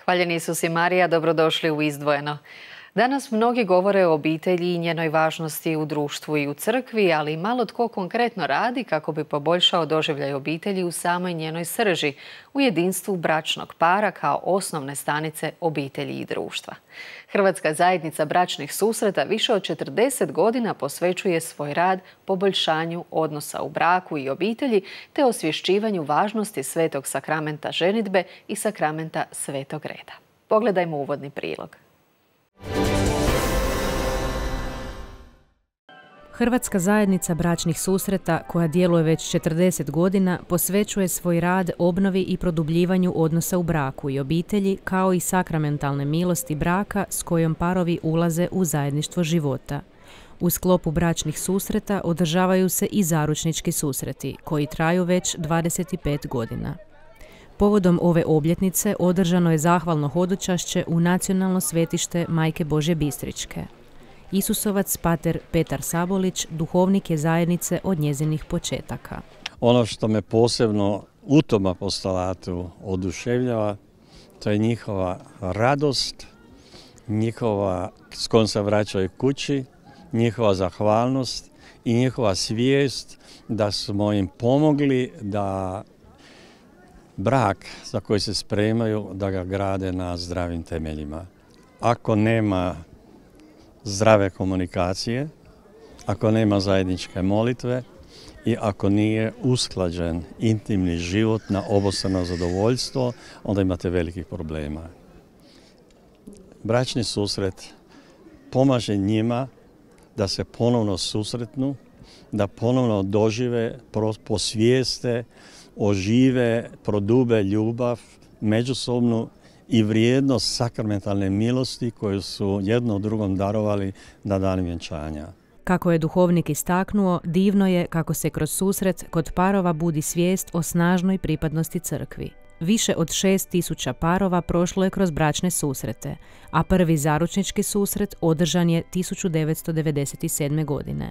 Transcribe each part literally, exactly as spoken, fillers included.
Hvaljeni Isus i Marija, dobrodošli u Izdvojeno. Danas mnogi govore o obitelji i njenoj važnosti u društvu i u crkvi, ali malo tko konkretno radi kako bi poboljšao doživljaj obitelji u samoj njenoj srži, u jedinstvu bračnog para kao osnovne stanice obitelji i društva. Hrvatska zajednica bračnih susreta više od četrdeset godina posvećuje svoj rad poboljšanju odnosa u braku i obitelji te osvješćivanju važnosti svetog sakramenta ženidbe i sakramenta svetog reda. Pogledajmo uvodni prilog. Hrvatska zajednica bračnih susreta, koja djeluje već četrdeset godina, posvećuje svoj rad obnovi i produbljivanju odnosa u braku i obitelji, kao i sakramentalne milosti braka s kojom parovi ulaze u zajedništvo života. U sklopu bračnih susreta održavaju se i zaručnički susreti, koji traju već dvadeset pet godina. Povodom ove obljetnice održano je zahvalno hodočašće u nacionalno svetište Majke Božje Bistričke. Isusovac pater Petar Sabolić duhovnik je zajednice od njezinih početaka. Ono što me posebno u tom apostolatu oduševljava, to je njihova radost, njihova s kojom se vraćaju kući, njihova zahvalnost i njihova svijest da smo im pomogli da brak za koji se spremaju, da ga grade na zdravim temeljima. Ako nema zdrave komunikacije, ako nema zajedničke molitve i ako nije usklađen intimni život na obostrano zadovoljstvo, onda imate velikih problema. Bračni susret pomaže njima da se ponovno susretnu, da ponovno dožive, posvijeste, ožive, prodube ljubav, međusobnu i vrijednost sakramentalne milosti koju su jedno drugom darovali na dan vjenčanja. Kako je duhovnik istaknuo, divno je kako se kroz susret kod parova budi svijest o snažnoj pripadnosti crkvi. Više od šest tisuća parova prošlo je kroz bračne susrete, a prvi zaručnički susret održan je tisuću devetsto devedeset sedme. godine.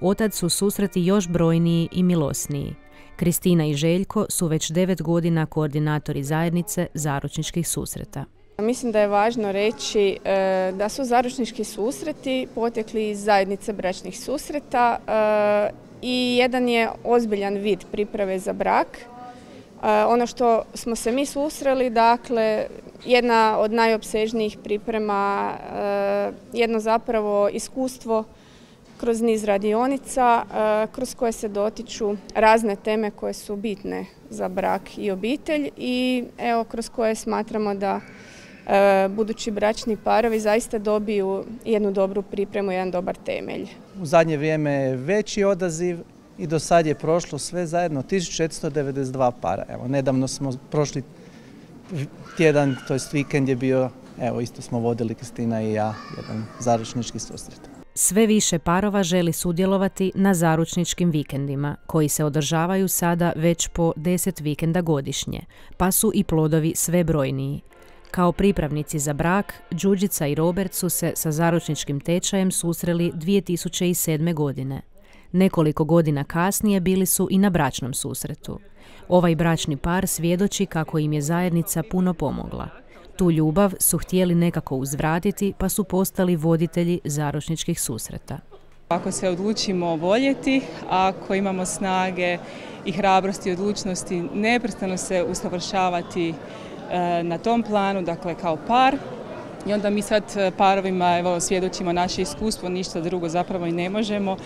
Otad su susreti još brojniji i milosniji. Kristina i Željko su već devet godina koordinatori zajednice zaručničkih susreta. Mislim da je važno reći e, da su zaručnički susreti potekli iz zajednice bračnih susreta e, i jedan je ozbiljan vid priprave za brak. E, ono što smo se mi susreli, dakle, jedna od najopsežnijih priprema, e, jedno zapravo iskustvo kroz niz radionica kroz koje se dotiču razne teme koje su bitne za brak i obitelj i evo kroz koje smatramo da budući bračni parovi zaista dobiju jednu dobru pripremu, jedan dobar temelj. U zadnje vrijeme je veći odaziv i do sad je prošlo sve zajedno tisuću četiristo devedeset dva para. Evo, nedavno smo prošli tjedan, to jest vikend je bio, evo isto smo vodili Kristina i ja, jedan zaručnički susret. Sve više parova želi sudjelovati na zaručničkim vikendima, koji se održavaju sada već po deset vikenda godišnje, pa su i plodovi sve brojniji. Kao pripravnici za brak, Đurđica i Robert su se sa zaručničkim tečajem susreli dvije tisuće sedme. godine. Nekoliko godina kasnije bili su i na bračnom susretu. Ovaj bračni par svjedoči kako im je zajednica puno pomogla. Tu ljubav su htjeli nekako uzvratiti, pa su postali voditelji zaručničkih susreta. Ako se odlučimo voljeti, ako imamo snage i hrabrosti i odlučnosti neprestano se usavršavati na tom planu, dakle kao par, i onda mi sad parovima evo, svjedočimo naše iskustvo, ništa drugo zapravo i ne možemo,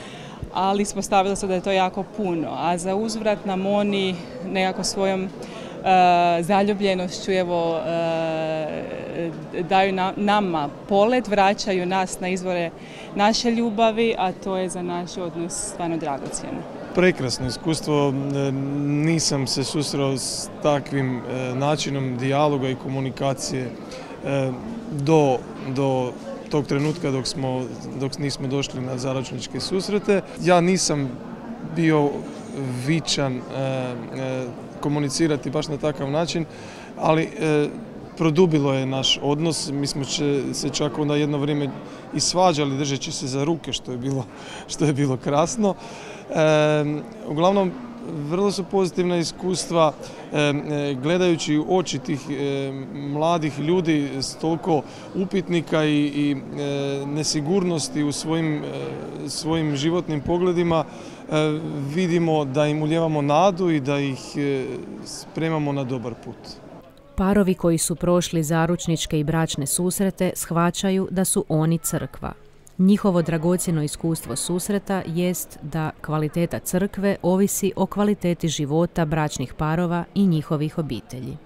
ali smo stavili se da je to jako puno, a za uzvrat nam oni nekako svojom zaljubljenošću evo, daju nama polet, vraćaju nas na izvore naše ljubavi, a to je za naš odnos stvarno dragocjeno. Prekrasno iskustvo, nisam se susreo s takvim načinom dijaloga i komunikacije do, do tog trenutka dok, smo, dok nismo došli na zaručničke susrete. Ja nisam bio vičan komunicirati baš na takav način, ali produbilo je naš odnos. Mi smo se čak onda jedno vrijeme i svađali držeći se za ruke, što je bilo, što je bilo krasno. E, uglavnom, vrlo su pozitivna iskustva e, gledajući u oči tih e, mladih ljudi s toliko upitnika i, i e, nesigurnosti u svojim, e, svojim životnim pogledima. E, vidimo da im ulijevamo nadu i da ih e, spremamo na dobar put. Parovi koji su prošli zaručničke i bračne susrete shvaćaju da su oni crkva. Njihovo dragocjeno iskustvo susreta jest da kvaliteta crkve ovisi o kvaliteti života bračnih parova i njihovih obitelji.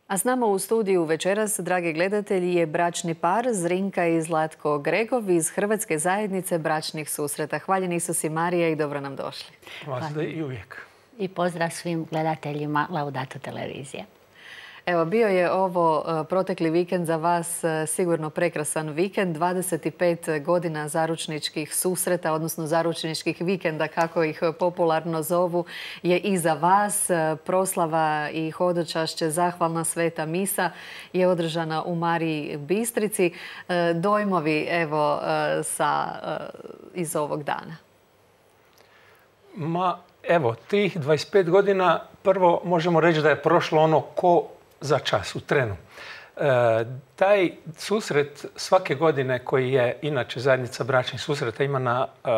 A s nama u studiju večeras, dragi gledatelji, je bračni par Zrinka i Zlatko Gregov iz Hrvatske zajednice bračnih susreta. Hvaljeni Isus i Marija i dobro nam došli. Hvala i uvijek. I pozdrav svim gledateljima Laudato televizije. Evo, bio je ovo protekli vikend za vas sigurno prekrasan vikend. dvadeset pet godina zaručničkih susreta, odnosno zaručničkih vikenda, kako ih popularno zovu, je iza vas. Proslava i hodočašće, zahvalna sveta misa je održana u Mariji Bistrici. Dojmovi, evo, sa, iz ovog dana. Ma, evo, tih dvadeset pet godina, prvo možemo reći da je prošlo ono ko za čas, u trenu. E, taj susret svake godine koji je inače zajednica bračnih susreta ima na, e,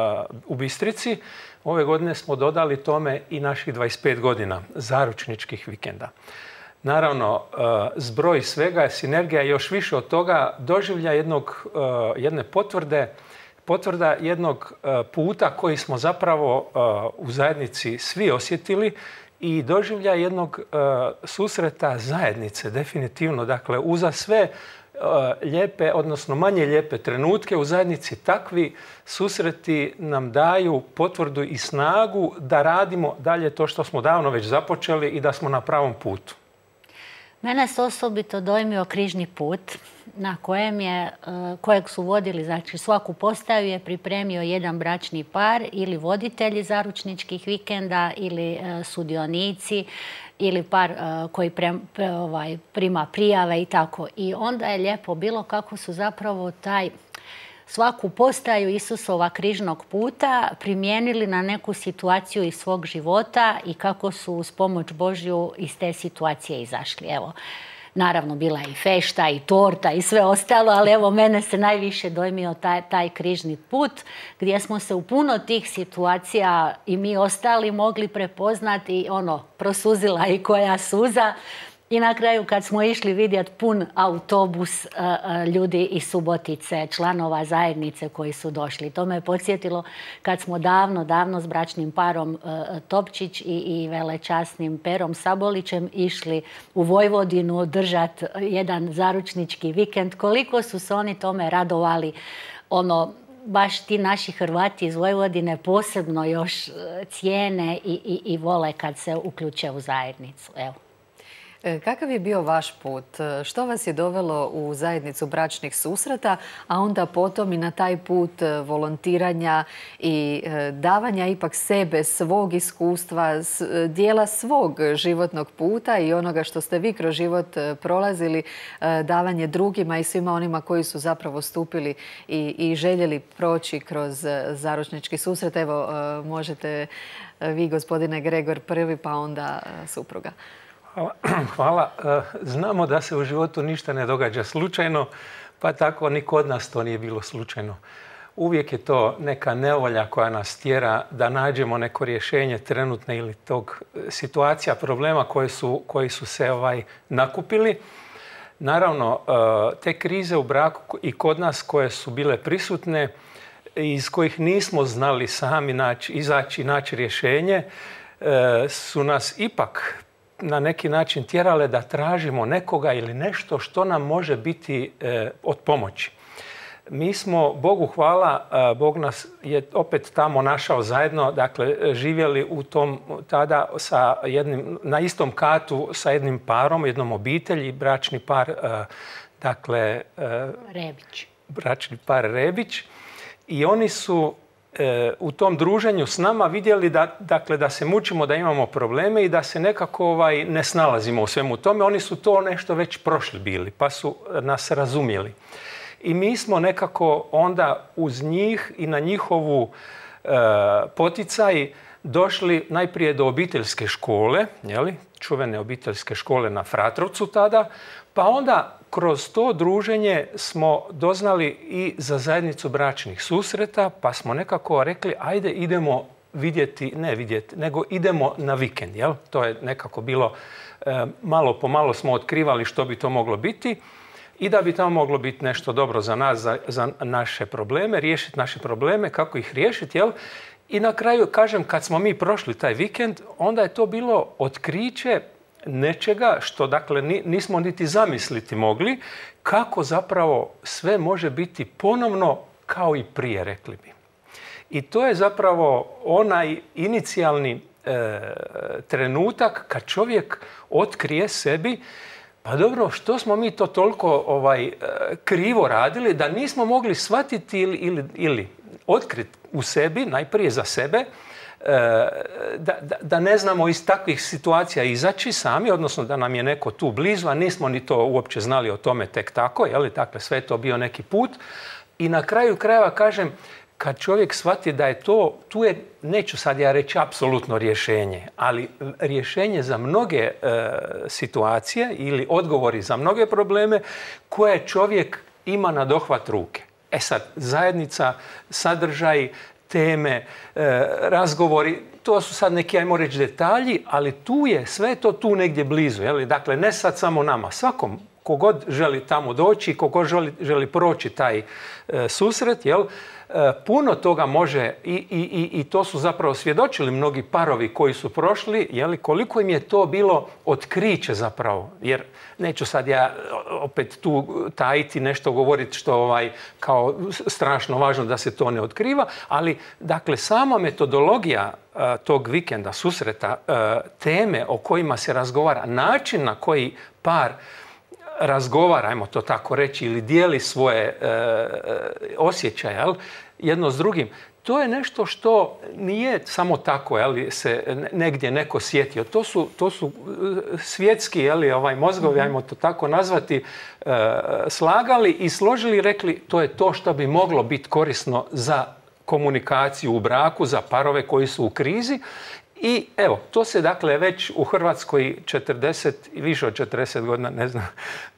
u Bistrici, ove godine smo dodali tome i naših dvadeset pet godina zaručničkih vikenda. Naravno, e, zbroj svega, sinergija još više od toga, doživlja jednog, e, jedne potvrde, potvrda jednog e, puta koji smo zapravo e, u zajednici svi osjetili, i doživlja jednog uh, susreta zajednice, definitivno. Dakle, uza sve uh, lijepe, odnosno manje lijepe trenutke u zajednici, takvi susreti nam daju potvrdu i snagu da radimo dalje to što smo davno već započeli i da smo na pravom putu. Mene se osobito dojmio križni put na kojem je, kojeg su vodili, znači svaku postaju je pripremio jedan bračni par ili voditelji zaručničkih vikenda ili sudionici ili par koji pre, pre, ovaj, prima prijave i tako. I onda je lijepo bilo kako su zapravo taj svaku postaju Isusova križnog puta primijenili na neku situaciju iz svog života i kako su uz pomoć Božju iz te situacije izašli. Evo, naravno bila je i fešta i torta i sve ostalo, ali evo mene se najviše dojmio taj, taj križni put gdje smo se u puno tih situacija i mi ostali mogli prepoznati, ono, prosuzila i koja suza. I na kraju kad smo išli vidjeti pun autobus ljudi iz Subotice, članova zajednice koji su došli. To me podsjetilo kad smo davno, davno s bračnim parom Topčić i, i velečasnim Perom Sabolićem išli u Vojvodinu održati jedan zaručnički vikend. Koliko su se oni tome radovali, ono, baš ti naši Hrvati iz Vojvodine posebno još cijene i, i, i vole kad se uključe u zajednicu. Evo. Kakav je bio vaš put? Što vas je dovelo u zajednicu bračnih susreta, a onda potom i na taj put volontiranja i davanja ipak sebe, svog iskustva, dijela svog životnog puta i onoga što ste vi kroz život prolazili, davanje drugima i svima onima koji su zapravo stupili i, i željeli proći kroz zaručnički susret? Evo, možete vi, gospodine Gregor, prvi, pa onda supruga. Hvala. Hvala. Znamo da se u životu ništa ne događa slučajno, pa tako ni kod nas to nije bilo slučajno. Uvijek je to neka nevolja koja nas tjera da nađemo neko rješenje trenutne ili tog situacija, problema koje su, koji su se ovaj, nakupili. Naravno, te krize u braku i kod nas koje su bile prisutne, iz kojih nismo znali sami naći, izaći i naći rješenje, su nas ipak na neki način tjerale da tražimo nekoga ili nešto što nam može biti e, od pomoći. Mi smo, Bogu hvala, Bog nas je opet tamo našao zajedno, dakle živjeli u tom tada sa jednim, na istom katu sa jednim parom, jednom obitelji, bračni par, e, dakle, e, Rebić. bračni par Rebić. I oni su u tom druženju s nama vidjeli da, dakle, da se mučimo, da imamo probleme i da se nekako ovaj, ne snalazimo u svemu tome. Oni su to nešto već prošli bili, pa su nas razumjeli. I mi smo nekako onda uz njih i na njihovu e, poticaj došli najprije do obiteljske škole, jeli, čuvene obiteljske škole na Fratrovcu tada, pa onda kroz to druženje smo doznali i za zajednicu bračnih susreta, pa smo nekako rekli ajde idemo vidjeti, ne vidjeti, nego idemo na vikend. Jel? To je nekako bilo, e, malo po malo smo otkrivali što bi to moglo biti i da bi tamo moglo biti nešto dobro za nas, za, za naše probleme, riješiti naše probleme, kako ih riješiti. Jel? I na kraju, kažem, kad smo mi prošli taj vikend, onda je to bilo otkriće nečega što, dakle, nismo niti zamisliti mogli, kako zapravo sve može biti ponovno kao i prije, rekli bi. I to je zapravo onaj inicijalni e, trenutak kad čovjek otkrije sebi, pa dobro, što smo mi to toliko ovaj, e, krivo radili da nismo mogli shvatiti ili, ili, ili otkriti u sebi, najprije za sebe, Da, da, da ne znamo iz takvih situacija izaći sami, odnosno da nam je neko tu blizu, a nismo ni to uopće znali o tome tek tako, je li? Dakle, sve je to bio neki put. I na kraju krajeva, kažem, kad čovjek shvati da je to, tu je, neću sad ja reći apsolutno rješenje, ali rješenje za mnoge e, situacije ili odgovori za mnoge probleme koje čovjek ima na dohvat ruke. E sad, zajednica, sadržaj, teme, e, razgovori, to su sad neki, ajmo reći, detalji, ali tu je, sve to tu negdje blizu. Jel? Dakle, ne sad samo nama, svakom kogod želi tamo doći, kogod želi, želi proći taj e, susret, jel? E, puno toga može i, i, i to su zapravo svjedočili mnogi parovi koji su prošli, jel? Koliko im je to bilo otkriće zapravo, jer neću sad ja opet tu tajiti nešto govoriti što ovaj, kao strašno važno da se to ne otkriva, ali dakle sama metodologija uh, tog vikenda, susreta, uh, teme o kojima se razgovara, način na koji par razgovara, ajmo to tako reći, ili dijeli svoje uh, osjećaje, jel, jedno s drugim, to je nešto što nije samo tako, jeli, se negdje neko sjetio. To su, to su svjetski, jeli, ovaj, mozgovi, ajmo to tako nazvati, e, slagali i složili i rekli to je to što bi moglo biti korisno za komunikaciju u braku, za parove koji su u krizi. I evo, to se dakle već u Hrvatskoj četrdeset, više od četrdeset godina, ne znam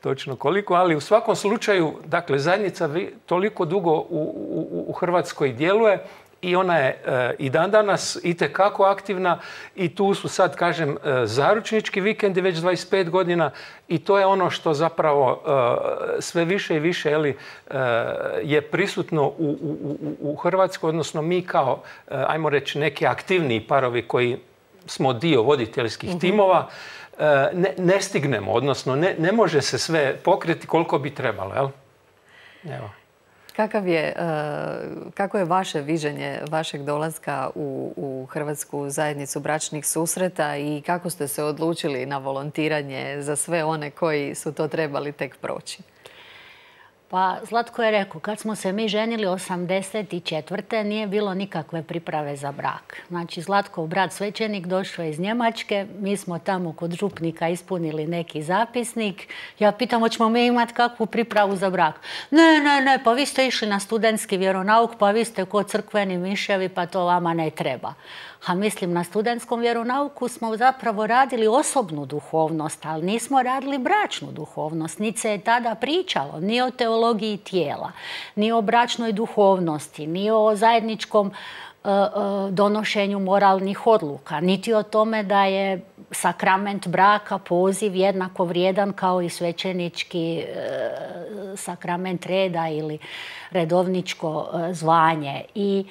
točno koliko, ali u svakom slučaju, dakle, zajednica toliko dugo u, u, u Hrvatskoj djeluje i ona je e, i dan danas itekako aktivna i tu su sad, kažem, e, zaručnički vikendi već dvadeset pet godina i to je ono što zapravo e, sve više i više, jeli, e, je prisutno u, u, u Hrvatskoj, odnosno mi kao, e, ajmo reći, neki aktivniji parovi koji smo dio voditeljskih mm-hmm. timova, e, ne, ne stignemo, odnosno ne, ne može se sve pokriti koliko bi trebalo, jel? Evo. Kakav je, kako je vaše viđenje vašeg dolaska u, u Hrvatsku zajednicu bračnih susreta i kako ste se odlučili na volontiranje za sve one koji su to trebali tek proći? Pa Zlatko je rekao, kad smo se mi ženili osamdeset četvrte nije bilo nikakve priprave za brak. Znači, Zlatkov brat svećenik došao iz Njemačke, mi smo tamo kod župnika ispunili neki zapisnik. Ja pitam, hoćemo mi imati kakvu pripravu za brak? Ne, ne, ne, pa vi ste išli na studentski vjeronauk, pa vi ste ko crkveni miševi, pa to vama ne treba. A mislim, na studentskom vjeronauku smo zapravo radili osobnu duhovnost, ali nismo radili bračnu duhovnost. Niti se je tada pričalo ni o teologiji tijela, ni o bračnoj duhovnosti, ni o zajedničkom uh, uh, donošenju moralnih odluka, niti o tome da je sakrament braka, poziv jednako vrijedan kao i svećenički uh, sakrament reda ili redovničko uh, zvanje. I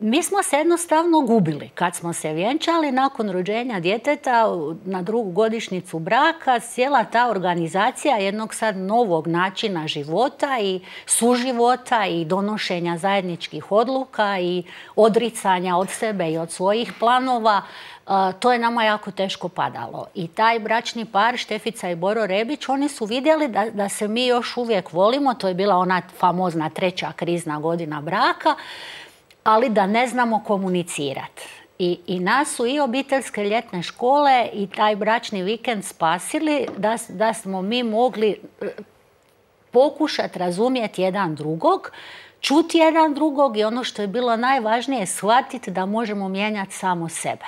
mi smo se jednostavno gubili. Kad smo se vjenčali nakon rođenja djeteta na drugu godišnjicu braka, cijela ta organizacija jednog sad novog načina života i suživota i donošenja zajedničkih odluka i odricanja od sebe i od svojih planova, to je nama jako teško padalo. I taj bračni par, Štefica i Boro Rebić, oni su vidjeli da, da se mi još uvijek volimo. To je bila ona famozna treća krizna godina braka. ali da ne znamo komunicirati. I, I nas su i obiteljske ljetne škole i taj bračni vikend spasili da, da smo mi mogli pokušati razumjeti jedan drugog, čuti jedan drugog i ono što je bilo najvažnije, shvatiti da možemo mijenjati samo sebe.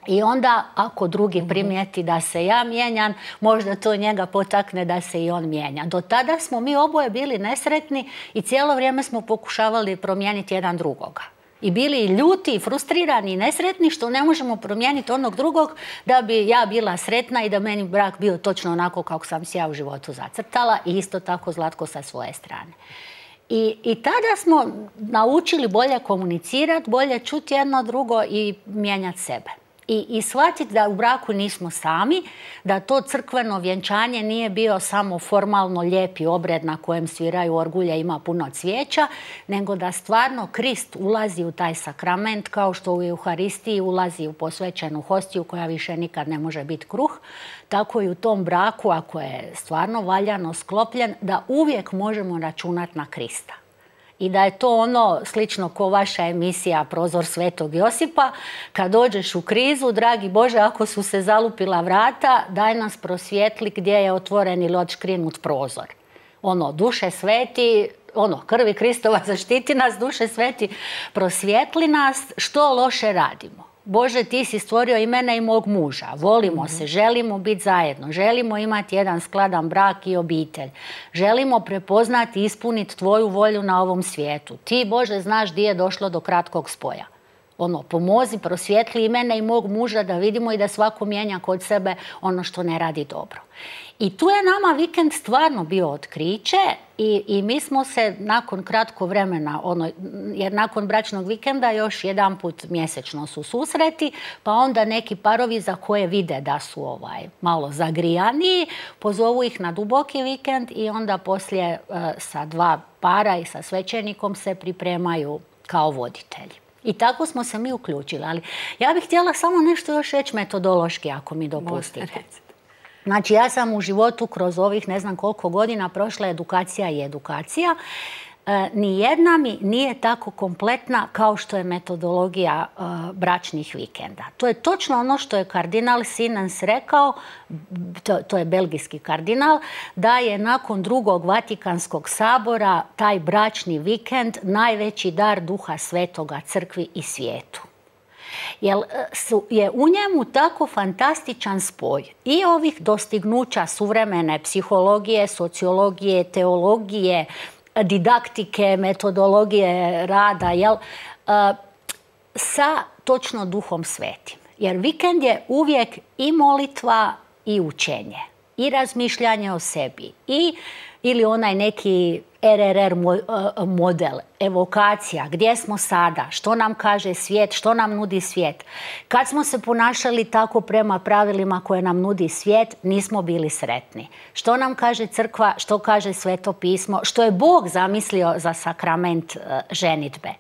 I onda ako drugi primijeti da se ja mijenjam, možda to njega potakne da se i on mijenja. Do tada smo mi oboje bili nesretni i cijelo vrijeme smo pokušavali promijeniti jedan drugoga. I bili i ljuti, i frustrirani, i nesretni što ne možemo promijeniti onog drugog da bi ja bila sretna i da meni brak bio točno onako kako sam si ja u životu zacrtala i isto tako Zlatko sa svoje strane. I, i tada smo naučili bolje komunicirati, bolje čuti jedno drugo i mijenjati sebe. I, i shvatiti da u braku nismo sami, da to crkveno vjenčanje nije bio samo formalno lijepi obred na kojem sviraju orgulje, ima puno cvijeća, nego da stvarno Krist ulazi u taj sakrament kao što u Euharistiji ulazi u posvećenu hostiju koja više nikad ne može biti kruh, tako i u tom braku, ako je stvarno valjano sklopljen, da uvijek možemo računati na Krista. I da je to ono slično ko vaša emisija Prozor Svetog Josipa. Kad dođeš u krizu, dragi Bože, ako su se zalupila vrata, daj nas prosvijetli gdje je otvoren ili odškrinut prozor. Ono, duše sveti, ono, krvi Kristova zaštiti nas, duše sveti, prosvijetli nas, što loše radimo. Bože, ti si stvorio i mene i mog muža. Volimo mm-hmm. se, želimo biti zajedno, želimo imati jedan skladan brak i obitelj. Želimo prepoznati i ispuniti tvoju volju na ovom svijetu. Ti, Bože, znaš gdje je došlo do kratkog spoja. Ono, pomozi, prosvijetli i mene i mog muža da vidimo i da svako mijenja kod sebe ono što ne radi dobro. I tu je nama vikend stvarno bio otkriće i, i mi smo se nakon kratko vremena, ono, jer nakon bračnog vikenda još jedan put mjesečno su susreti, pa onda neki parovi za koje vide da su ovaj, malo zagrijaniji, pozovu ih na duboki vikend i onda poslije uh, sa dva para i sa svećenikom se pripremaju kao voditelji. I tako smo se mi uključili, ali ja bih htjela samo nešto još reći metodološki, ako mi dopustite. Znači, ja sam u životu kroz ovih ne znam koliko godina prošla edukacija i edukacija. E, nijedna mi nije tako kompletna kao što je metodologija e, bračnih vikenda. To je točno ono što je kardinal Sinens rekao, to, to je belgijski kardinal, da je nakon drugog Vatikanskog sabora taj bračni vikend najveći dar Duha Svetoga crkvi i svijetu. Jer je u njemu tako fantastičan spoj i ovih dostignuća suvremene psihologije, sociologije, teologije, didaktike, metodologije rada, jel, sa točno Duhom Svetim. Jer vikend je uvijek i molitva i učenje, i razmišljanje o sebi, i ili onaj neki er er er model, evokacija, gdje smo sada, što nam kaže svijet, što nam nudi svijet. Kad smo se ponašali tako prema pravilima koje nam nudi svijet, nismo bili sretni. Što nam kaže crkva, što kaže Sveto pismo, što je Bog zamislio za sakrament ženidbe.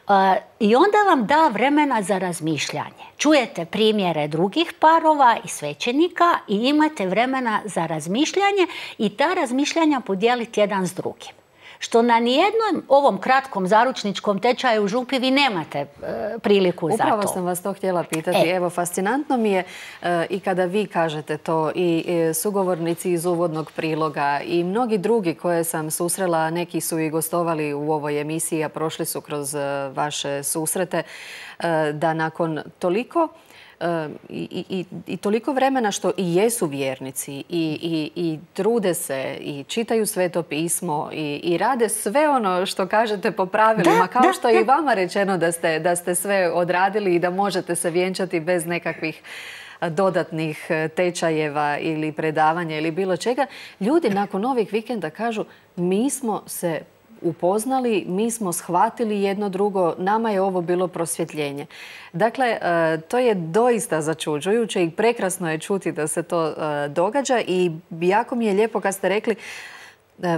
Uh, I onda vam da vremena za razmišljanje. Čujete primjere drugih parova i svećenika i imate vremena za razmišljanje i ta razmišljanja podijeliti jedan s drugim. Što na nijednom ovom kratkom zaručničkom tečaju u Župi vi nemate e, priliku za to. Upravo sam vas to htjela pitati. E. Evo, fascinantno mi je e, i kada vi kažete to i e, sugovornici iz uvodnog priloga i mnogi drugi koje sam susrela, neki su i gostovali u ovoj emisiji, a prošli su kroz e, vaše susrete, e, da nakon toliko I, i, i toliko vremena što i jesu vjernici i, i, i trude se i čitaju Sveto pismo i, i rade sve ono što kažete po pravilima, da, kao da, što je da. i vama rečeno da ste, da ste sve odradili i da možete se vjenčati bez nekakvih dodatnih tečajeva ili predavanja ili bilo čega. Ljudi nakon ovih vikenda kažu mi smo se upoznali, mi smo shvatili jedno drugo, nama je ovo bilo prosvjetljenje. Dakle, to je doista začuđujuće i prekrasno je čuti da se to događa i jako mi je lijepo kad ste rekli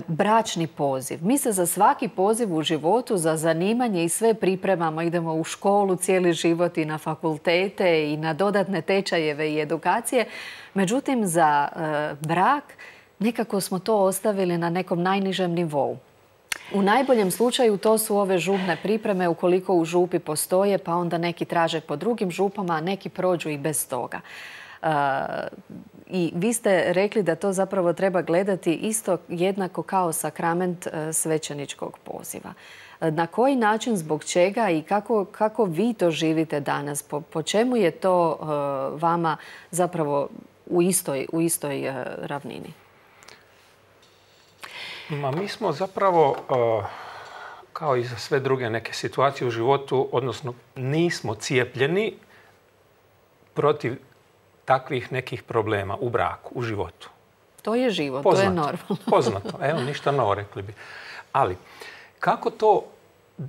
bračni poziv. Mi se za svaki poziv u životu, za zanimanje i sve pripremamo, idemo u školu cijeli život i na fakultete i na dodatne tečajeve i edukacije. Međutim, za brak nekako smo to ostavili na nekom najnižem nivou. U najboljem slučaju to su ove župne pripreme ukoliko u župi postoje, pa onda neki traže po drugim župama, a neki prođu i bez toga. I vi ste rekli da to zapravo treba gledati isto jednako kao sakrament svećeničkog poziva. Na koji način, zbog čega i kako, kako vi to živite danas? Po, po čemu je to uh, vama zapravo u istoj, u istoj uh, ravnini? Ma, mi smo zapravo, uh, kao i za sve druge neke situacije u životu, odnosno nismo cijepljeni protiv takvih nekih problema u braku, u životu. To je život, poznato, to je normalno. Poznato, evo, ništa novo, rekli bi. Ali, kako to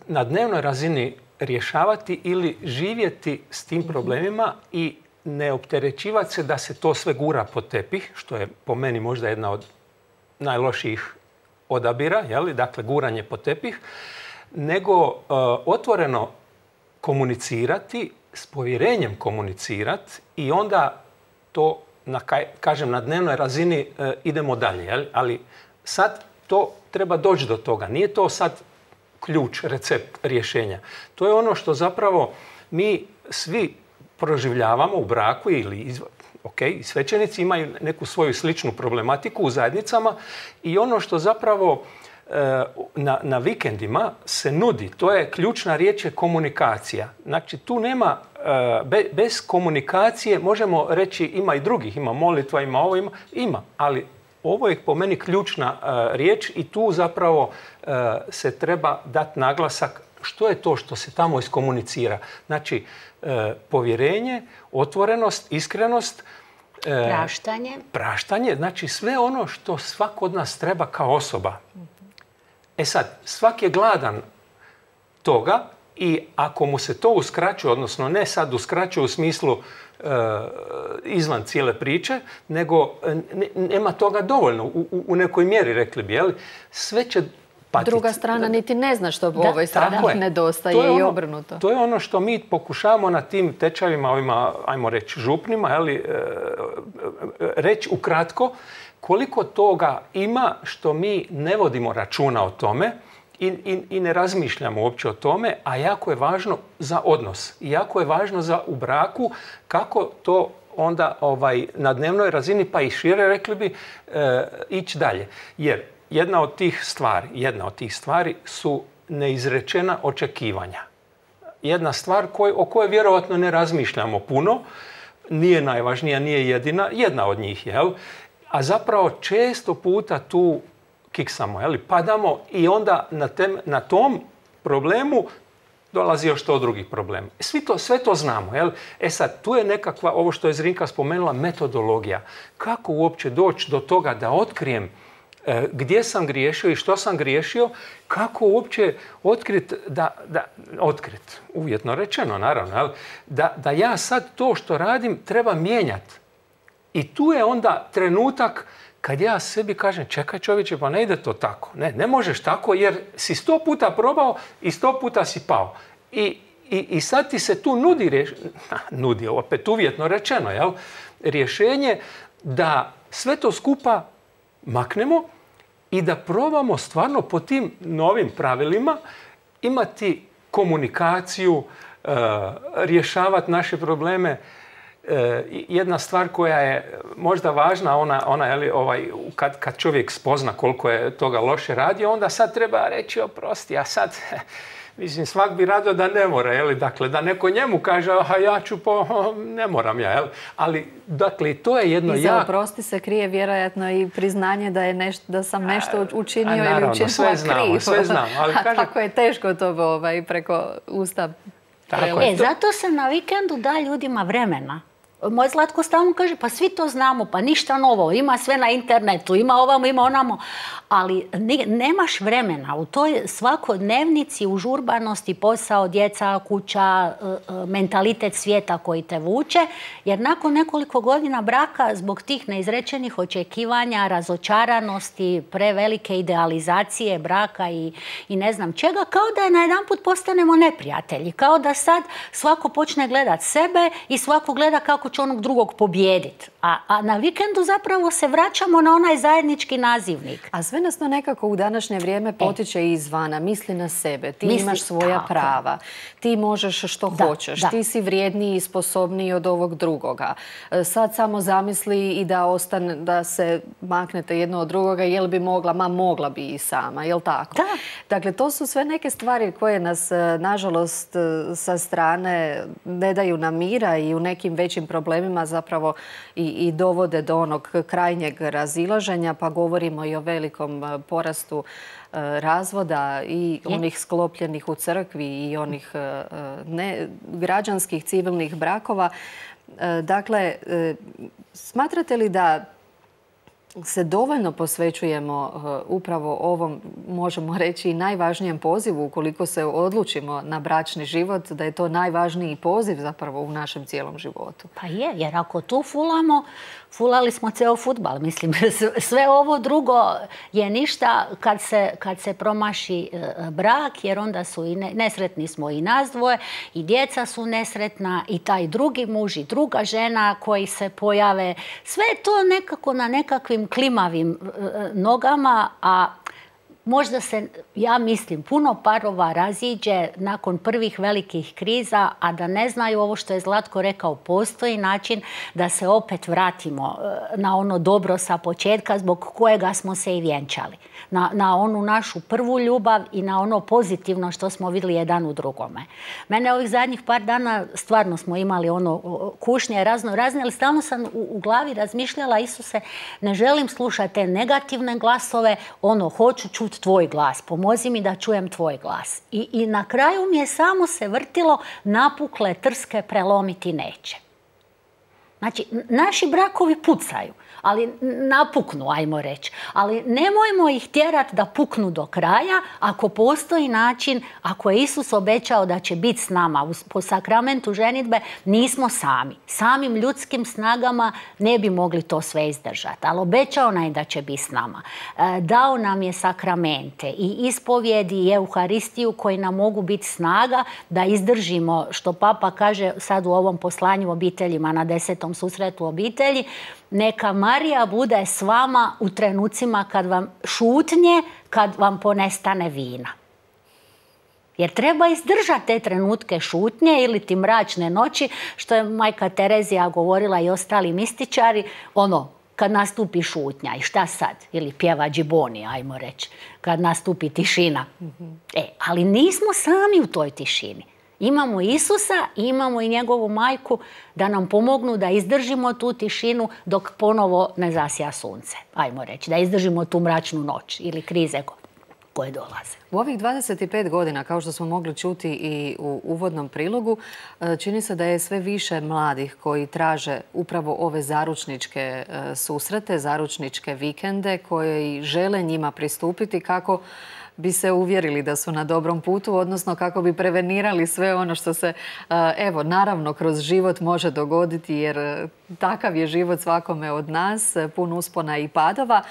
na dnevnoj razini rješavati ili živjeti s tim problemima i ne opterećivati se da se to sve gura pod tepih, što je po meni možda jedna od najlošijih odabira, jeli? Dakle, guranje pod tepih, nego uh, otvoreno komunicirati, s povjerenjem komunicirati i onda to, na, kažem, na dnevnoj razini uh, idemo dalje. Jeli? Ali sad to treba doći do toga. Nije to sad ključ, recept rješenja. To je ono što zapravo mi svi proživljavamo u braku ili izv... ok, svećenici imaju neku svoju sličnu problematiku u zajednicama i ono što zapravo e, na, na vikendima se nudi, to je ključna riječ je komunikacija. Znači tu nema, e, be, bez komunikacije možemo reći ima i drugih, ima molitva, ima ovo, ima, ima, ali ovo je po meni ključna uh, riječ i tu zapravo uh, se treba dati naglasak što je to što se tamo iskomunicira. Znači, uh, povjerenje, otvorenost, iskrenost, uh, praštanje. Praštanje, znači sve ono što svako od nas treba kao osoba. E sad, svak je gladan toga i ako mu se to uskraćuje, odnosno ne sad uskraćuje u smislu izvan cijele priče, nego nema toga dovoljno u, u nekoj mjeri, rekli bi, jel? Sve će patiti. Druga strana niti ne zna što u ovoj strani nedostaje ono, i obrnuto. To je ono što mi pokušavamo na tim tečajevima, ovima, ajmo reći, župnima, jeli, reći ukratko koliko toga ima što mi ne vodimo računa o tome I, i, i ne razmišljamo uopće o tome, a jako je važno za odnos. I jako je važno za u braku kako to onda ovaj, na dnevnoj razini, pa i šire, rekli bi, e, ići dalje. Jer jedna od tih stvari, jedna od tih stvari su neizrečena očekivanja. Jedna stvar koj, o kojoj vjerojatno ne razmišljamo puno, nije najvažnija, nije jedina, jedna od njih, jel? A zapravo često puta tu kiksamo, jeli, padamo i onda na, tem, na tom problemu dolazi još to drugih problema. Svi to, sve to znamo. Jel? E sad, tu je nekakva, ovo što je Zrinka spomenula, metodologija. Kako uopće doći do toga da otkrijem e, gdje sam griješio i što sam griješio, kako uopće otkrit, da, da, otkrit, uvjetno rečeno naravno, jel? Da, da ja sad to što radim treba mijenjati. I tu je onda trenutak kad ja sebi kažem, čekaj čovječe, pa ne ide to tako. Ne, ne možeš tako jer si sto puta probao i sto puta si pao. I, i, i sad ti se tu nudi, rješ... nudi opet uvjetno rečeno, jel? Rješenje da sve to skupa maknemo i da probamo stvarno po tim novim pravilima imati komunikaciju, uh, rješavati naše probleme. Jedna stvar koja je možda važna, ona, ona je ovaj, kad, kad čovjek spozna koliko je toga loše radio, onda sad treba reći oprosti, a sad, mislim, svak bi radio da ne mora, jeli? Dakle, da neko njemu kaže, aha, ja ću po, ne moram ja, jeli? Ali, dakle, to je jedno... I za jak... oprosti se krije vjerojatno i priznanje da, je nešto, da sam nešto učinio a, a, naravno, ili učinila sve znamo, krivo. sve znamo, ali a kažem... tako je teško to ovaj, preko usta. Tako e, zato se na vikendu da ljudima vremena. Moj Zlatko stalno kaže, pa svi to znamo, pa ništa novo, ima sve na internetu, ima ovamo, ima onamo, ali ne, nemaš vremena u toj svakodnevnici, užurbanosti, posao, djeca, kuća, mentalitet svijeta koji te vuče, jer nakon nekoliko godina braka, zbog tih neizrečenih očekivanja, razočaranosti, prevelike idealizacije braka i, i ne znam čega, kao da je najedanput postanemo neprijatelji, kao da sad svako počne gledat sebe i svako gleda kako kako će onog drugog pobijediti. A, a na vikendu zapravo se vraćamo na onaj zajednički nazivnik. A sve nas to nekako u današnje vrijeme potiče e. izvana. Misli na sebe. Ti Misli, imaš svoja tako. prava. Ti možeš što da, hoćeš. Da. Ti si vrijedniji i sposobniji od ovog drugoga. Sad samo zamisli i da ostane, da se maknete jedno od drugoga. Jel bi mogla? Ma mogla bi i sama. Jel tako? Da. Dakle, to su sve neke stvari koje nas, nažalost, sa strane ne daju nam mira i u nekim većim problemima zapravo i, i dovode do onog krajnjeg razilaženja, pa govorimo i o velikom porastu razvoda i onih sklopljenih u crkvi i onih ne, građanskih civilnih brakova. Dakle, smatrate li da se dovoljno posvećujemo upravo ovom, možemo reći, najvažnijem pozivu ukoliko se odlučimo na bračni život, da je to najvažniji poziv zapravo u našem cijelom životu? Pa je, jer ako tu fulamo, fulali smo ceo fudbal. Mislim, sve ovo drugo je ništa kad se, kad se promaši brak, jer onda su i ne, nesretni smo i nas dvoje, i djeca su nesretna, i taj drugi muž, i druga žena koji se pojave. Sve je to nekako na nekakvim klimavim nogama, a možda se, ja mislim, puno parova raziđe nakon prvih velikih kriza, a da ne znaju ovo što je Zlatko rekao, postoji način da se opet vratimo na ono dobro sa početka zbog kojega smo se i vjenčali. Na, na onu našu prvu ljubav i na ono pozitivno što smo vidjeli jedan u drugome. Mene ovih zadnjih par dana stvarno smo imali ono kušnje razno razne, ali stalno sam u, u glavi razmišljala, Isuse, ne želim slušati te negativne glasove, ono, hoću čuti tvoj glas, pomozi mi da čujem tvoj glas. I, i na kraju mi je samo se vrtilo, napukle trske prelomiti neće. Znači, naši brakovi pucaju, ali napuknu, ajmo reći. Ali nemojmo ih tjerati da puknu do kraja ako postoji način, ako je Isus obećao da će biti s nama po sakramentu ženidbe, nismo sami. Samim ljudskim snagama ne bi mogli to sve izdržati, ali obećao nam je da će biti s nama. Dao nam je sakramente i ispovjedi i Euharistiju koji nam mogu biti snaga da izdržimo, što Papa kaže sad u ovom poslanju obiteljima na desetom susretu obitelji, neka Marija bude s vama u trenucima kad vam šutnje, kad vam ponestane vina. Jer treba izdržati te trenutke šutnje ili ti mračne noći, što je majka Terezija govorila i ostali mističari, ono, kad nastupi šutnja i šta sad? Ili pjeva džiboni, ajmo reći, kad nastupi tišina. Mm-hmm. E, ali nismo sami u toj tišini. Imamo Isusa i imamo i njegovu majku da nam pomognu da izdržimo tu tišinu dok ponovo ne zasja sunce. Ajmo reći, da izdržimo tu mračnu noć ili krize koje dolaze. U ovih dvadeset pet godina, kao što smo mogli čuti i u uvodnom prilogu, čini se da je sve više mladih koji traže upravo ove zaručničke susrete, zaručničke vikende koji žele njima pristupiti kako bi se uvjerili da su na dobrom putu, odnosno kako bi prevenirali sve ono što se, evo, naravno, kroz život može dogoditi, jer takav je život svakome od nas, pun uspona i padova.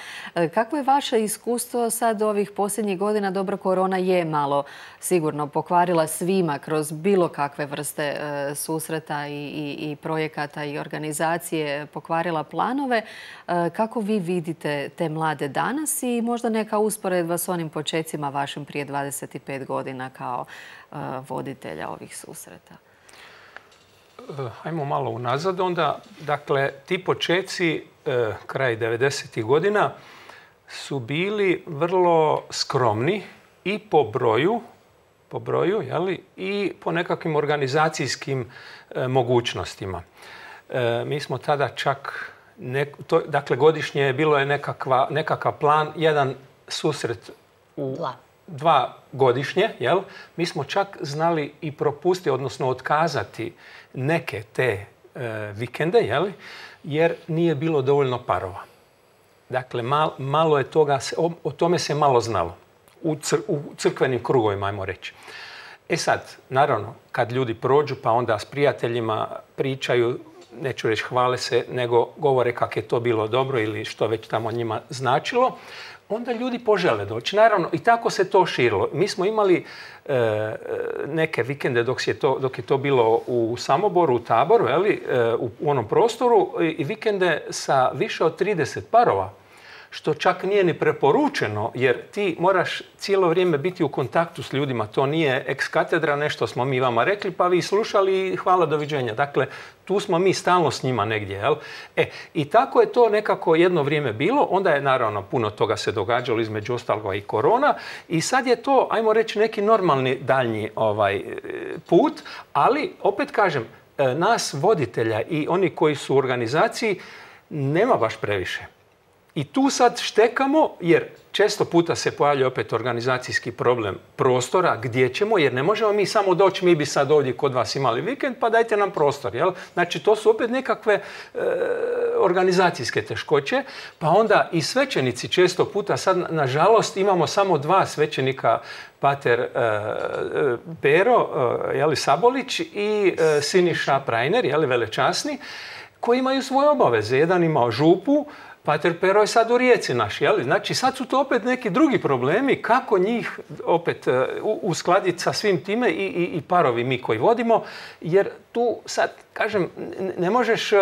Kako je vaše iskustvo sad ovih posljednjih godina? Dobro, korona je malo sigurno pokvarila svima kroz bilo kakve vrste susreta i, i, i projekata i organizacije, pokvarila planove. Kako vi vidite te mlade danas i možda neka usporedba s onim počecima vašim prije dvadeset pet godina kao uh, voditelja ovih susreta? Hajmo malo unazad onda. Dakle, ti počeci uh, kraj devedesetih godina su bili vrlo skromni i po broju, po broju, jeli, i po nekakvim organizacijskim uh, mogućnostima. Uh, mi smo tada čak, ne, to, dakle, godišnje bilo je nekakva, nekakav plan, jedan susret u dva, dva godišnje, jel? Mi smo čak znali i propustiti, odnosno otkazati neke te e, vikende, jel? Jer nije bilo dovoljno parova. Dakle, mal, malo je toga, o, o tome se malo znalo u, cr, u crkvenim krugovima, ajmo reći. E sad, naravno, kad ljudi prođu pa onda s prijateljima pričaju, neću reći hvale se, nego govore kako je to bilo dobro ili što već tamo njima značilo, onda ljudi požele doći. Naravno, i tako se to širilo. Mi smo imali e, neke vikende dok je, to, dok je to bilo u Samoboru, u Taboru, eli, e, u, u onom prostoru, i, i vikende sa više od trideset parova, što čak nije ni preporučeno, jer ti moraš cijelo vrijeme biti u kontaktu s ljudima. To nije ex katedra, nešto smo mi vama rekli, pa vi slušali i hvala, doviđenja. Dakle, tu smo mi stalno s njima negdje. Jel? E, i tako je to nekako jedno vrijeme bilo. Onda je naravno puno toga se događalo, između ostaloga i korona. I sad je to, ajmo reći, neki normalni daljnji ovaj, put. Ali, opet kažem, nas voditelja i oni koji su u organizaciji nema baš previše. I tu sad štekamo, jer često puta se pojavlja opet organizacijski problem prostora, gdje ćemo, jer ne možemo mi samo doći, mi bi sad ovdje kod vas imali vikend, pa dajte nam prostor. Jel? Znači, to su opet nekakve e, organizacijske teškoće, pa onda i svećenici često puta, sad nažalost imamo samo dva svećenika, pater e, Pero e, jeli, Sabolić i e, Siniša Prajner, jeli, velečasni, koji imaju svoje obaveze. Jedan imao župu, pater Pero je sad u Rijeci naš, jel? Znači sad su to opet neki drugi problemi, kako njih opet uh, uskladiti sa svim time i, i, i parovi mi koji vodimo, jer tu sad, kažem, ne možeš uh,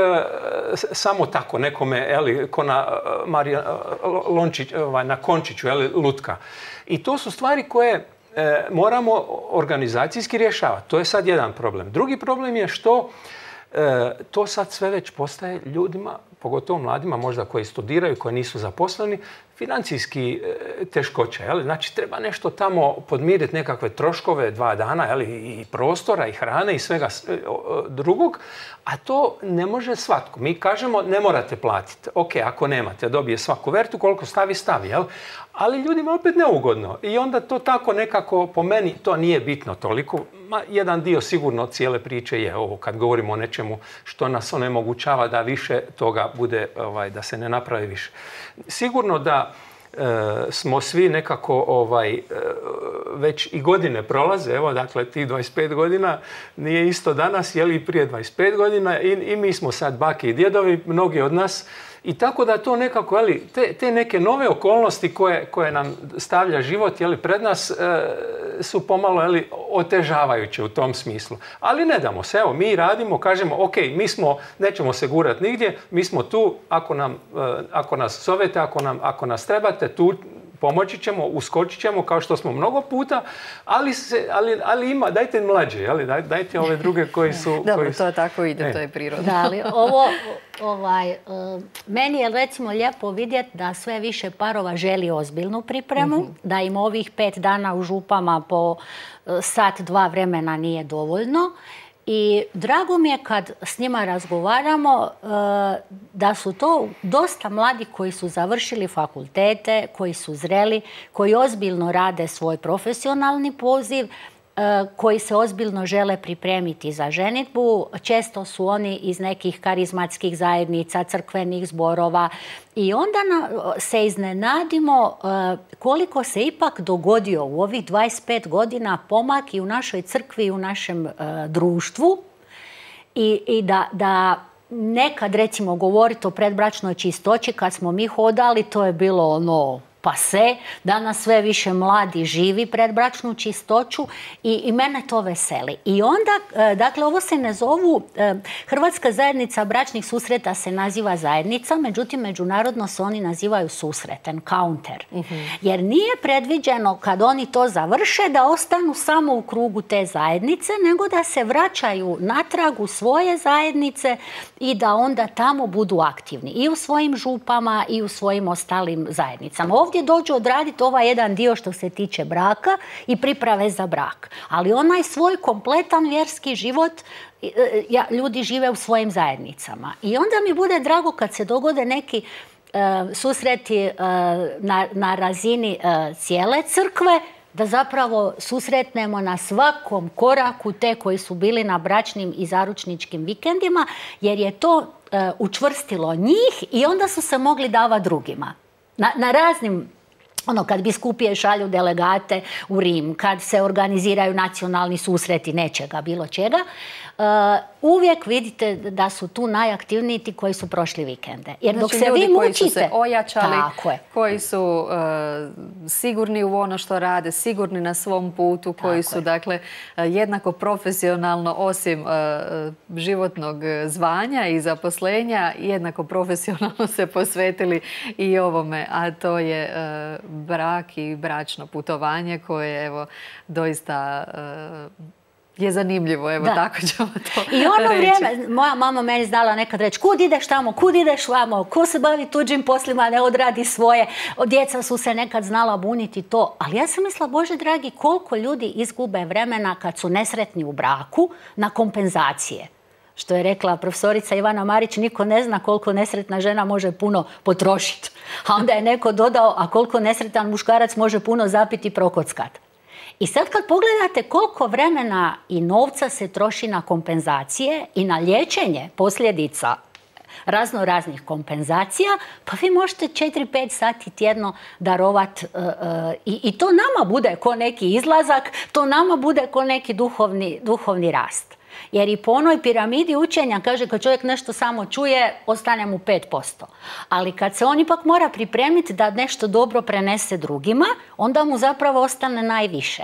samo tako nekome, jel, ko na, uh, Marija, uh, Lončić, uh, na Končiću, jel, lutka. I to su stvari koje uh, moramo organizacijski rješavati. To je sad jedan problem. Drugi problem je što uh, to sad sve već postaje ljudima, pogotovo mladima možda koji studiraju, koji nisu zaposleni, financijski teškoće. Jeli? Znači, treba nešto tamo podmiriti, nekakve troškove dva dana, jeli? I prostora, i hrane, i svega drugog, a to ne može svatko. Mi kažemo, ne morate platiti. Ok, ako nemate, dobije svaku vertu, koliko stavi, stavi. Jel? Ali ljudima opet neugodno. I onda to tako nekako, po meni, to nije bitno toliko. Ma, jedan dio sigurno cijele priče je ovo, kad govorimo o nečemu što nas onemogućava da više toga bude, ovaj, da se ne napravi više. Sigurno da e, smo svi nekako ovaj, e, već i godine prolaze, evo, dakle, ti dvadeset pet godina nije isto danas, je li prije dvadeset pet godina, i, i mi smo sad bake i djedovi, mnogi od nas. I tako da to nekako, jeli, te, te neke nove okolnosti koje, koje nam stavlja život, jeli, pred nas e, su pomalo, jeli, otežavajuće u tom smislu. Ali ne damo se, evo, mi radimo, kažemo, ok, mi smo, nećemo se gurati nigdje, mi smo tu, ako, nam, e, ako nas zovete, ako, nam, ako nas trebate, tu pomoći ćemo, uskočit ćemo kao što smo mnogo puta, ali, se, ali, ali ima, dajte mlađe, jeli, daj, dajte ove druge koji su... Dobro, koji su, to tako ide, e. To je prirodno. Da, ali ovo, ovaj, uh, meni je recimo lijepo vidjeti da sve više parova želi ozbiljnu pripremu, mm-hmm. da im ovih pet dana u župama po uh, sat, dva vremena nije dovoljno. I drago mi je kad s njima razgovaramo da su to dosta mladi koji su završili fakultete, koji su zreli, koji ozbiljno rade svoj profesionalni poziv, koji se ozbiljno žele pripremiti za ženidbu. Često su oni iz nekih karizmatskih zajednica, crkvenih zborova i onda se iznenadimo koliko se ipak dogodio u ovih dvadeset pet godina pomak i u našoj crkvi i u našem društvu i, i da, da nekad, recimo, govoriti o predbračnoj čistoći kad smo mi hodali, to je bilo ono pase, danas sve više mladi živi predbračnu čistoću i, i mene to veseli. I onda, dakle, ovo se ne zovu, Hrvatska zajednica bračnih susreta se naziva zajednica, međutim, međunarodno se oni nazivaju susret, encounter. Mm-hmm. Jer nije predviđeno kad oni to završe da ostanu samo u krugu te zajednice, nego da se vraćaju natrag u svoje zajednice i da onda tamo budu aktivni i u svojim župama i u svojim ostalim zajednicama. Ovdje dođu odraditi ovaj jedan dio što se tiče braka i priprave za brak. Ali onaj svoj kompletan vjerski život ja, ljudi žive u svojim zajednicama. I onda mi bude drago kad se dogode neki uh, susreti uh, na, na razini uh, cijele crkve, da zapravo susretnemo na svakom koraku te koji su bili na bračnim i zaručničkim vikendima, jer je to uh, učvrstilo njih i onda su se mogli davati drugima. Na, na raznim, ono, kad biskupije šalju delegate u Rim, kad se organiziraju nacionalni susreti nečega, bilo čega, uvijek vidite da su tu najaktivniji ti koji su prošli vikende. Jer dok znači, se vi mučite, koji su se ojačali, koji su uh, sigurni u ono što rade, sigurni na svom putu, koji Tako su je. dakle jednako profesionalno osim uh, životnog zvanja i zaposlenja, jednako profesionalno se posvetili i ovome, a to je uh, brak i bračno putovanje koje evo doista uh, je zanimljivo, evo da. tako ćemo to I ono reći. vrijeme, moja mama meni znala nekad reći kud ideš tamo, kud ideš vamo, ko se bavi tuđim poslima, ne odradi svoje. Djeca su se nekad znala buniti to, ali ja sam mislila, Bože dragi, koliko ljudi izgube vremena kad su nesretni u braku na kompenzacije. Što je rekla profesorica Ivana Marić, niko ne zna koliko nesretna žena može puno potrošiti. A onda je neko dodao, a koliko nesretan muškarac može puno zapiti i prokockati. I sad kad pogledate koliko vremena i novca se troši na kompenzacije i na liječenje posljedica razno raznih kompenzacija, pa vi možete četiri pet sati tjedno darovati uh, uh, i, i to nama bude ko neki izlazak, to nama bude ko neki duhovni, duhovni rast. Jer i po onoj piramidi učenja kaže kad čovjek nešto samo čuje, ostane mu pet posto. Ali kad se on ipak mora pripremiti da nešto dobro prenese drugima, onda mu zapravo ostane najviše.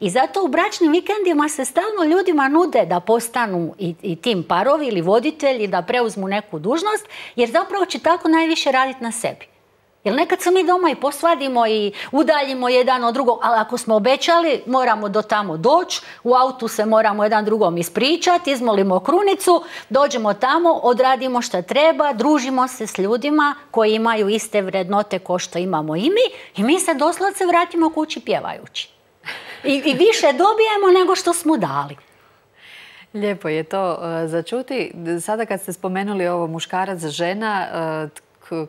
I zato u bračnim vikendima se stalno ljudima nude da postanu i, i tim parovi ili voditelji, da preuzmu neku dužnost, jer zapravo će tako najviše raditi na sebi. Jer nekad se mi doma i posvadimo i udaljimo jedan od drugog, ali ako smo obećali, moramo do tamo doći, u autu se moramo jedan drugom ispričati, izmolimo krunicu, dođemo tamo, odradimo što treba, družimo se s ljudima koji imaju iste vrednote ko što imamo i mi i mi se doslovce vratimo kući pjevajući. I, i više dobijemo nego što smo dali. Lijepo je to uh, začuti. Sada kad ste spomenuli ovo muškarac, žena, uh,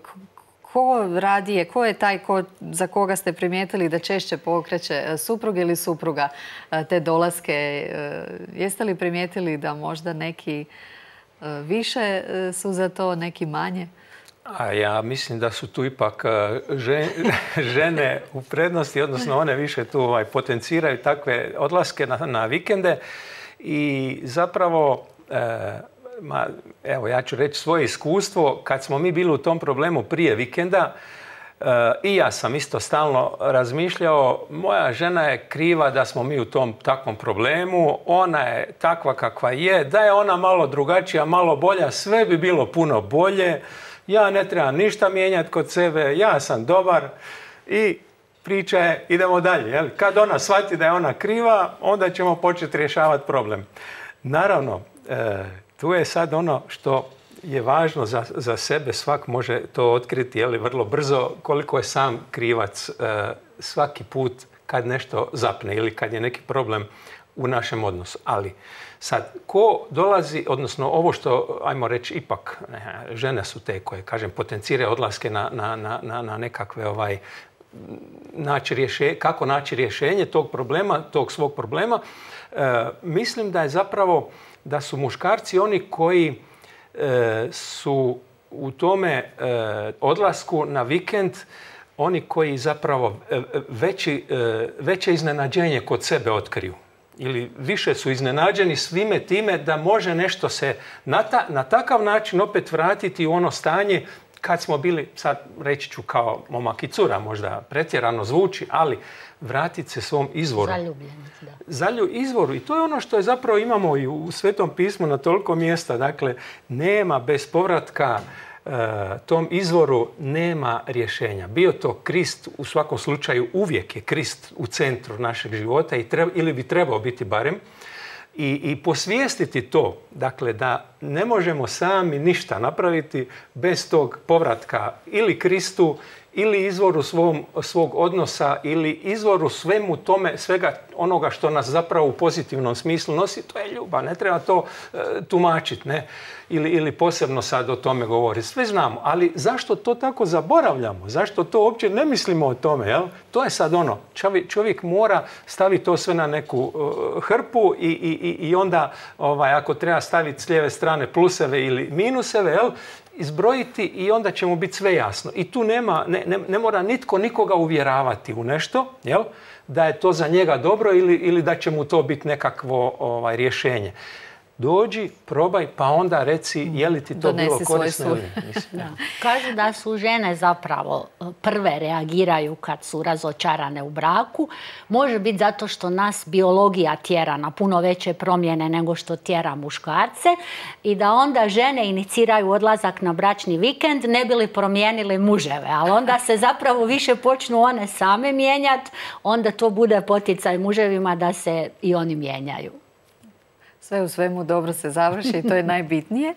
ko radije, ko je taj ko, za koga ste primijetili da češće pokreće, suprug ili supruga te dolaske? Jeste li primijetili da možda neki više su za to, neki manje? A ja mislim da su tu ipak žene u prednosti, odnosno one više tu ovaj, potenciraju takve odlaske na, na vikende i zapravo Ma, evo, ja ću reći svoje iskustvo. Kad smo mi bili u tom problemu prije vikenda, e, i ja sam isto stalno razmišljao, moja žena je kriva da smo mi u tom takvom problemu, ona je takva kakva je, da je ona malo drugačija, malo bolja, sve bi bilo puno bolje, ja ne trebam ništa mijenjati kod sebe, ja sam dobar i priča je, idemo dalje. Jel? Kad ona shvati da je ona kriva, onda ćemo početi rješavati problem. Naravno, e, tu je sad ono što je važno za, za sebe, svak može to otkriti je li, vrlo brzo, koliko je sam krivac e, svaki put kad nešto zapne ili kad je neki problem u našem odnosu. Ali sad, ko dolazi, odnosno ovo što, ajmo reći, ipak ne, žene su te koje, kažem, potenciraju odlaske na, na, na, na nekakve ovaj, naći rješenje, kako naći rješenje tog problema, tog svog problema, e, mislim da je zapravo da su muškarci oni koji e, su u tome e, odlasku na vikend, oni koji zapravo e, veći, e, veće iznenađenje kod sebe otkriju. Ili više su iznenađeni svime time da može nešto se na, ta, na takav način opet vratiti u ono stanje kad smo bili, sad reći ću kao momak i cura, možda pretjerano zvuči, ali vratiti se svom izvoru. Zaljubljeni, da. Zalju izvoru. I to je ono što je zapravo imamo i u Svetom pismu na toliko mjesta. Dakle, nema bez povratka e, tom izvoru, nema rješenja. Bio to Krist, u svakom slučaju uvijek je Krist u centru našeg života i treba, ili bi trebao biti barem. I, i posvijestiti to, dakle, da ne možemo sami ništa napraviti bez tog povratka ili Kristu, ili izvoru svom, svog odnosa, ili izvoru svemu tome, svega onoga što nas zapravo u pozitivnom smislu nosi, to je ljubav, ne treba to e, tumačiti, ne? Ili, ili posebno sad o tome govoriti. Sve znamo, ali zašto to tako zaboravljamo? Zašto to uopće ne mislimo o tome? Jel? To je sad ono, čovjek, čovjek mora staviti to sve na neku uh, hrpu i, i, i onda ovaj, ako treba staviti s lijeve strane pluseve ili minuseve, jel? Izbrojiti i onda će mu biti sve jasno. I tu nema, ne, ne, ne mora nitko nikoga uvjeravati u nešto, jel? Da je to za njega dobro ili, ili da će mu to biti nekakvo ovaj, rješenje. dođi, probaj, pa onda reci je li ti to Donesi bilo svoj korisno sud. ili nisi. Da. Kažu da su žene zapravo prve reagiraju kad su razočarane u braku. Može biti zato što nas biologija tjera na puno veće promjene nego što tjera muškarce i da onda žene iniciraju odlazak na bračni vikend ne bi li promijenili muževe. Ali onda se zapravo više počnu one same mijenjati, onda to bude poticaj muževima da se i oni mijenjaju. Sve u svemu dobro se završi i to je najbitnije.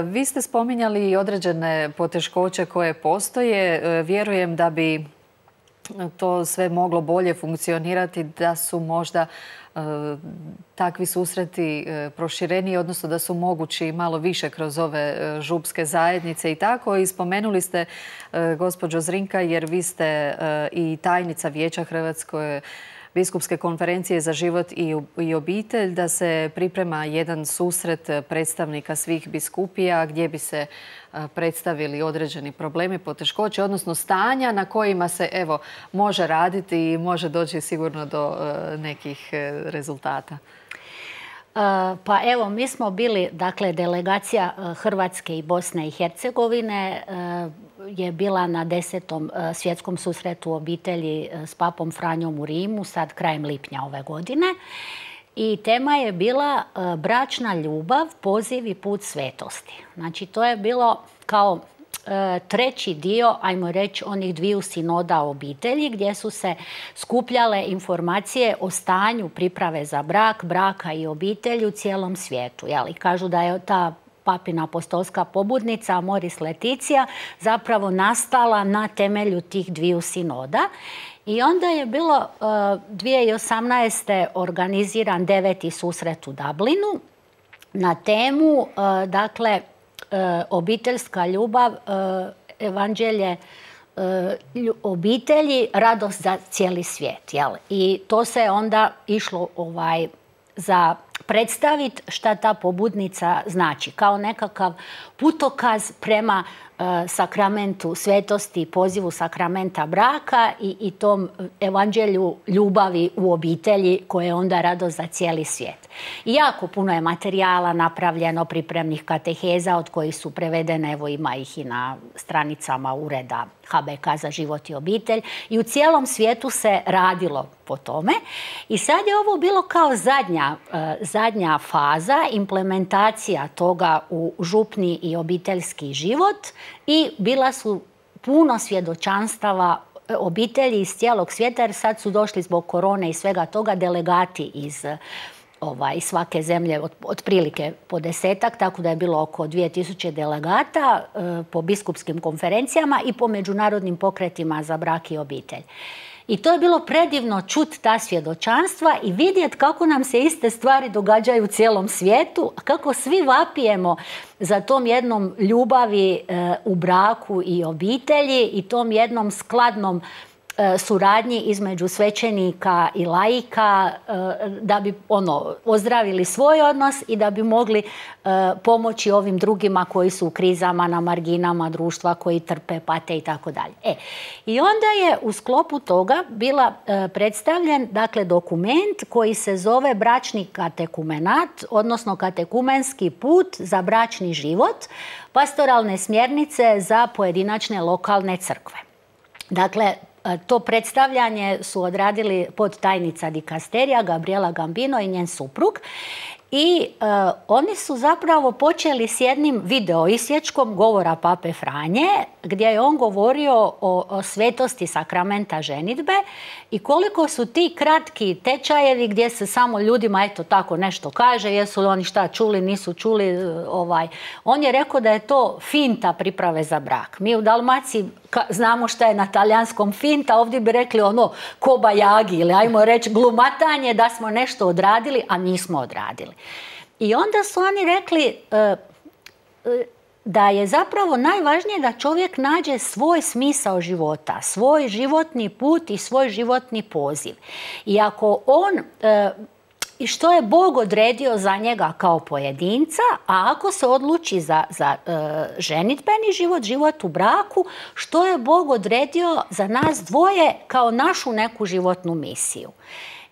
Vi ste spominjali i određene poteškoće koje postoje. Vjerujem da bi to sve moglo bolje funkcionirati, da su možda takvi susreti prošireniji, odnosno da su mogući malo više kroz ove župske zajednice i tako. I spomenuli ste, gospođo Zrinka, jer vi ste i tajnica Vijeća Hrvatske biskupske konferencije za život i obitelj, da se priprema jedan susret predstavnika svih biskupija gdje bi se predstavili određeni problemi, poteškoće, odnosno stanja na kojima se evo može raditi i može doći sigurno do nekih rezultata. Pa evo, mi smo bili, dakle, delegacija Hrvatske i Bosne i Hercegovine je bila na desetom svjetskom susretu obitelji s papom Franjom u Rimu, sad krajem lipnja ove godine. I tema je bila bračna ljubav, poziv i put svetosti. Znači, to je bilo kao treći dio, ajmo reći, onih dviju sinoda obitelji gdje su se skupljale informacije o stanju priprave za brak, braka i obitelji u cijelom svijetu. Jeli, kažu da je ta papina apostolska pobudnica Amoris Laetitia zapravo nastala na temelju tih dviju sinoda. I onda je bilo dvije tisuće osamnaeste. organiziran deveti susret u Dublinu na temu, dakle, obiteljska ljubav, evanđelje obitelji, radost za cijeli svijet. Jel? I to se onda išlo ovaj, za predstaviti šta ta pobudnica znači, kao nekakav putokaz prema uh, sakramentu svetosti, pozivu sakramenta braka i, i tom evanđelju ljubavi u obitelji koje je onda radost za cijeli svijet. I jako puno je materijala napravljeno, pripremnih kateheza od kojih su prevedene, evo ima ih i na stranicama ureda H B K za život i obitelj i u cijelom svijetu se radilo po tome. I sad je ovo bilo kao zadnja, uh, zadnja faza, implementacija toga u župni i obiteljski život i bila su puno svjedočanstava obitelji iz cijelog svijeta, jer sad su došli zbog korone i svega toga delegati iz ovaj, svake zemlje, od, otprilike po desetak, tako da je bilo oko dvije tisuće delegata e, po biskupskim konferencijama i po međunarodnim pokretima za brak i obitelj. I to je bilo predivno čuti ta svjedočanstva i vidjeti kako nam se iste stvari događaju u cijelom svijetu, a kako svi vapijemo za tom jednom ljubavi e, u braku i obitelji i tom jednom skladnom e, suradnji između svećenika i laika e, da bi ono, ozdravili svoj odnos i da bi mogli e, pomoći ovim drugima koji su u krizama, na marginama društva, koji trpe, pate i tako dalje. E, i onda je u sklopu toga bila e, predstavljen, dakle, dokument koji se zove bračni katekumenat, odnosno katekumenski put za bračni život, pastoralne smjernice za pojedinačne lokalne crkve. Dakle, to predstavljanje su odradili podtajnica dikasterija Gabriela Gambino i njen suprug. I uh, oni su zapravo počeli s jednim video isječkom govora pape Franje, gdje je on govorio o, o svetosti sakramenta ženidbe i koliko su ti kratki tečajevi gdje se samo ljudima eto tako nešto kaže, jesu li oni šta čuli, nisu čuli. Ovaj. On je rekao da je to finta priprave za brak. Mi u Dalmaciji znamo šta je na talijanskom finta, ovdje bi rekli ono kobajagi ili ajmo reći glumatanje da smo nešto odradili, a nismo odradili. I onda su oni rekli uh, uh, da je zapravo najvažnije da čovjek nađe svoj smisao života, svoj životni put i svoj životni poziv. I ako on, uh, i što je Bog odredio za njega kao pojedinca, a ako se odluči za, za uh, ženidbeni život, život u braku, što je Bog odredio za nas dvoje kao našu neku životnu misiju.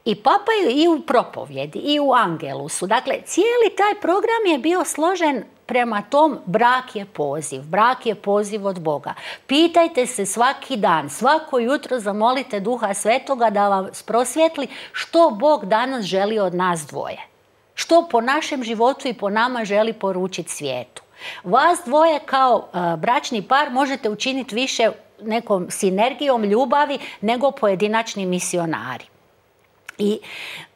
i papa i u propovjedi, i u Angelusu. Dakle, cijeli taj program je bio složen prema tom brak je poziv. Brak je poziv od Boga. Pitajte se svaki dan, svako jutro zamolite Duha Svetoga da vam prosvjetli što Bog danas želi od nas dvoje. Što po našem životu i po nama želi poručiti svijetu. Vas dvoje kao uh, bračni par možete učiniti više nekom sinergijom ljubavi nego pojedinačni misionari. I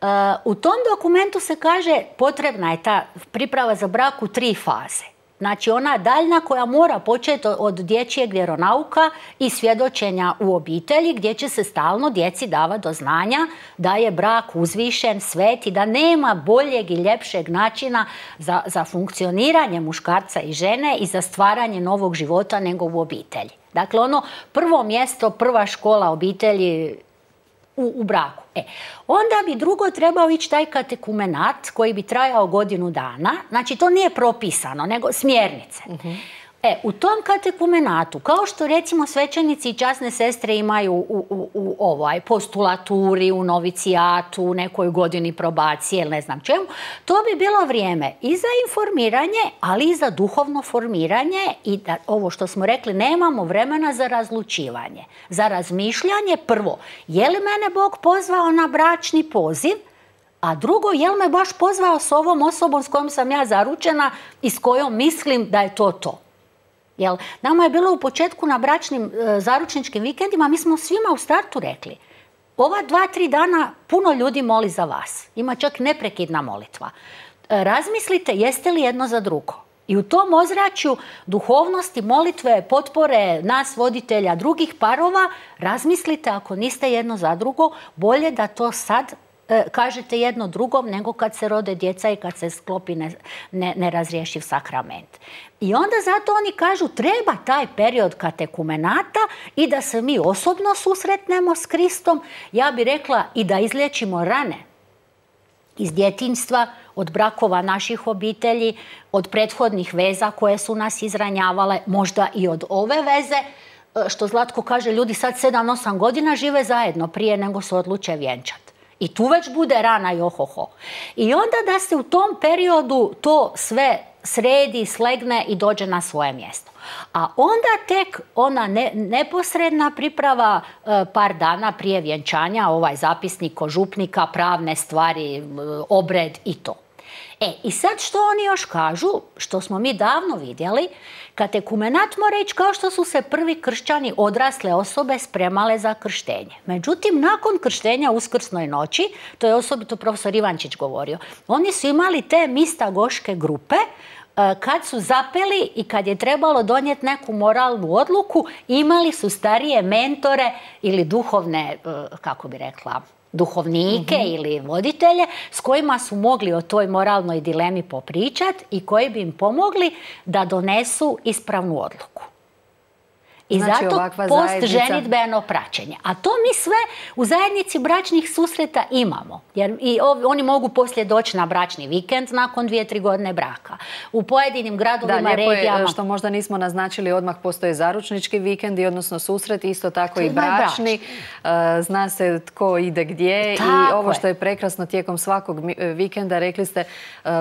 uh, u tom dokumentu se kaže potrebna je ta priprava za brak u tri faze. Znači ona daljna koja mora početi od dječjeg vjeronauka i svjedočenja u obitelji gdje će se stalno djeci davati do znanja da je brak uzvišen, svet i da nema boljeg i ljepšeg načina za, za funkcioniranje muškarca i žene i za stvaranje novog života nego u obitelji. Dakle ono prvo mjesto, prva škola obitelji U, u braku. E, onda bi drugo trebao ići taj katekumenat koji bi trajao godinu dana. Znači, to nije propisano, nego smjernice. Uh-huh. E, u tom katekumenatu, kao što recimo svećenici i časne sestre imaju u, u, u ovaj postulaturi, u novicijatu, u nekoj godini probacije ili ne znam čemu, to bi bilo vrijeme i za informiranje, ali i za duhovno formiranje i da ovo što smo rekli, nemamo vremena za razlučivanje, za razmišljanje. Prvo, je li mene Bog pozvao na bračni poziv? A drugo, je li me baš pozvao s ovom osobom s kojom sam ja zaručena i s kojom mislim da je to to? Jel, nama je bilo u početku na bračnim e, zaručničkim vikendima, mi smo svima u startu rekli, ova dva, tri dana puno ljudi moli za vas. Ima čak neprekidna molitva. E, razmislite jeste li jedno za drugo. I u tom ozračju duhovnosti, molitve, potpore nas voditelja drugih parova, razmislite ako niste jedno za drugo, bolje da to sad e, kažete jedno drugom nego kad se rode djeca i kad se sklopi ne, ne, nerazriješiv sakrament. I onda zato oni kažu treba taj period katekumenata i da se mi osobno susretnemo s Kristom, ja bih rekla i da izliječimo rane iz djetinjstva, od brakova naših obitelji, od prethodnih veza koje su nas izranjavale, možda i od ove veze, što Zlatko kaže, ljudi sad sedam osam godina žive zajedno prije nego se odluče vjenčati. I tu već bude rana i ohoho. I onda da se u tom periodu to sve sredi, slegne i dođe na svoje mjesto. A onda tek ona ne, neposredna priprava e, par dana prije vjenčanja, ovaj zapisnik kod župnika, pravne stvari, e, obred i to. E, i sad što oni još kažu, što smo mi davno vidjeli, katekumenat mora ići kao što su se prvi kršćani, odrasle osobe, spremale za krštenje. Međutim, nakon krštenja uskrsnoj noći, to je osobito profesor Ivančić govorio, oni su imali te mistagoške grupe kad su zapeli i kad je trebalo donijeti neku moralnu odluku, imali su starije mentore ili duhovne, kako bi rekla, duhovnike mm-hmm. ili voditelje s kojima su mogli o toj moralnoj dilemi popričati i koji bi im pomogli da donesu ispravnu odluku. I znači, zato post ženitbeno praćenje. A to mi sve u zajednici bračnih susreta imamo. Jer i oni mogu poslije doći na bračni vikend nakon dvije, tri godine braka. U pojedinim gradovima, da, regijama... Je, što možda nismo naznačili, odmah postoje zaručnički vikendi, odnosno susreti, isto tako i bračni. bračni. Zna se tko ide gdje. Tako i ovo što je prekrasno tijekom svakog vikenda, rekli ste,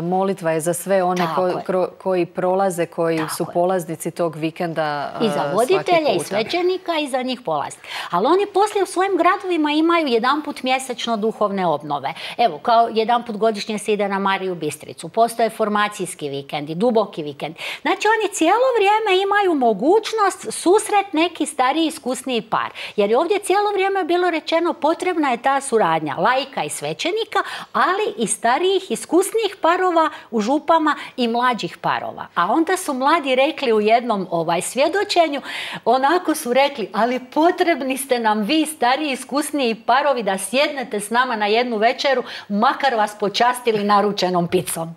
molitva je za sve one ko, ko, koji prolaze, koji tako su je. polaznici tog vikenda. I za voditelje, i svećenika i za njih polaznik. Ali oni poslije u svojim gradovima imaju jedanput mjesečno duhovne obnove. Evo, kao jedanput godišnje se ide na Mariju Bistricu. Postoje formacijski vikendi, duboki vikend. Znači, oni cijelo vrijeme imaju mogućnost susret neki stariji, iskusniji par. Jer je ovdje cijelo vrijeme bilo rečeno potrebna je ta suradnja laika i svećenika, ali i starijih, iskusnijih parova u župama i mlađih parova. A onda su mladi rekli u jednom ovaj svjedočenju, onako su rekli, ali potrebni ste nam vi, stariji, iskusniji parovi, da sjednete s nama na jednu večeru, makar vas počastili naručenom picom.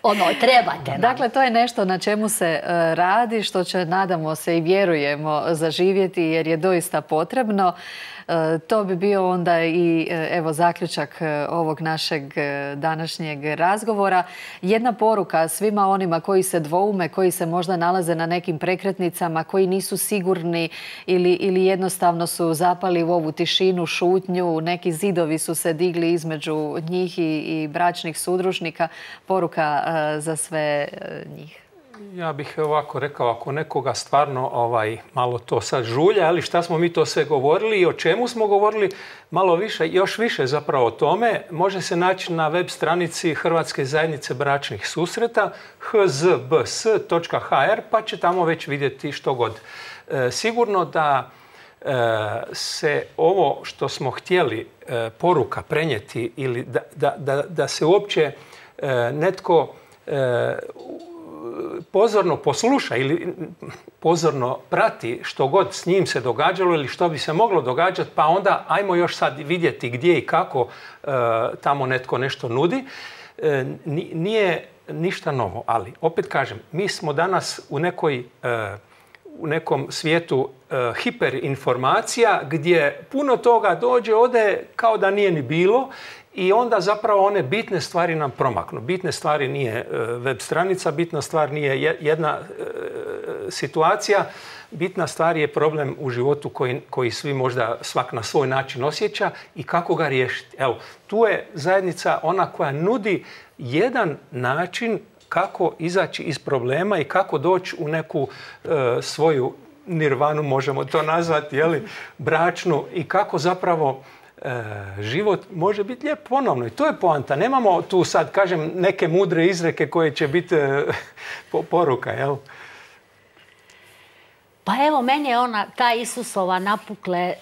Ono, trebate nam. Dakle, to je nešto na čemu se uh, radi, što će, nadamo se i vjerujemo, zaživjeti, jer je doista potrebno. Uh, To bi bio onda i evo zaključak ovog našeg današnjeg razgovora. Jedna poruka svima onima koji se dvoume, koji se možda nalaze na nekim prekretnicama, koji nisu sigurni ili, ili jednostavno su zapali u ovu tišinu, šutnju, neki zidovi su se digli između njih i, i bračnih sudružnika. Poruka za sve njih. Ja bih ovako rekao, ako nekoga stvarno ovaj, malo to sad žulja, ali šta smo mi to sve govorili i o čemu smo govorili, malo više, još više zapravo o tome, može se naći na web stranici Hrvatske zajednice bračnih susreta h z b s točka h r, pa će tamo već vidjeti što god. E, sigurno da e, se ovo što smo htjeli e, poruka prenijeti ili da, da, da, da se uopće e, netko e, pozorno posluša ili pozorno prati što god s njim se događalo ili što bi se moglo događati, pa onda ajmo još sad vidjeti gdje i kako e, tamo netko nešto nudi. E, nije ništa novo, ali opet kažem, mi smo danas u nekoj e, u nekom svijetu e, hiperinformacija gdje puno toga dođe, ode kao da nije ni bilo. I onda zapravo one bitne stvari nam promaknu. Bitne stvari nije web stranica, bitna stvar nije jedna situacija, bitna stvar je problem u životu koji, koji svi možda svak na svoj način osjeća i kako ga riješiti. Evo, tu je zajednica ona koja nudi jedan način kako izaći iz problema i kako doći u neku e, svoju nirvanu, možemo to nazvati, jeli, bračnu, i kako zapravo E, život može biti lijep ponovno. I to je poanta. Nemamo tu sad, kažem, neke mudre izreke koje će biti e, poruka, jel? Pa evo, meni je ona, ta Isusova napukle e,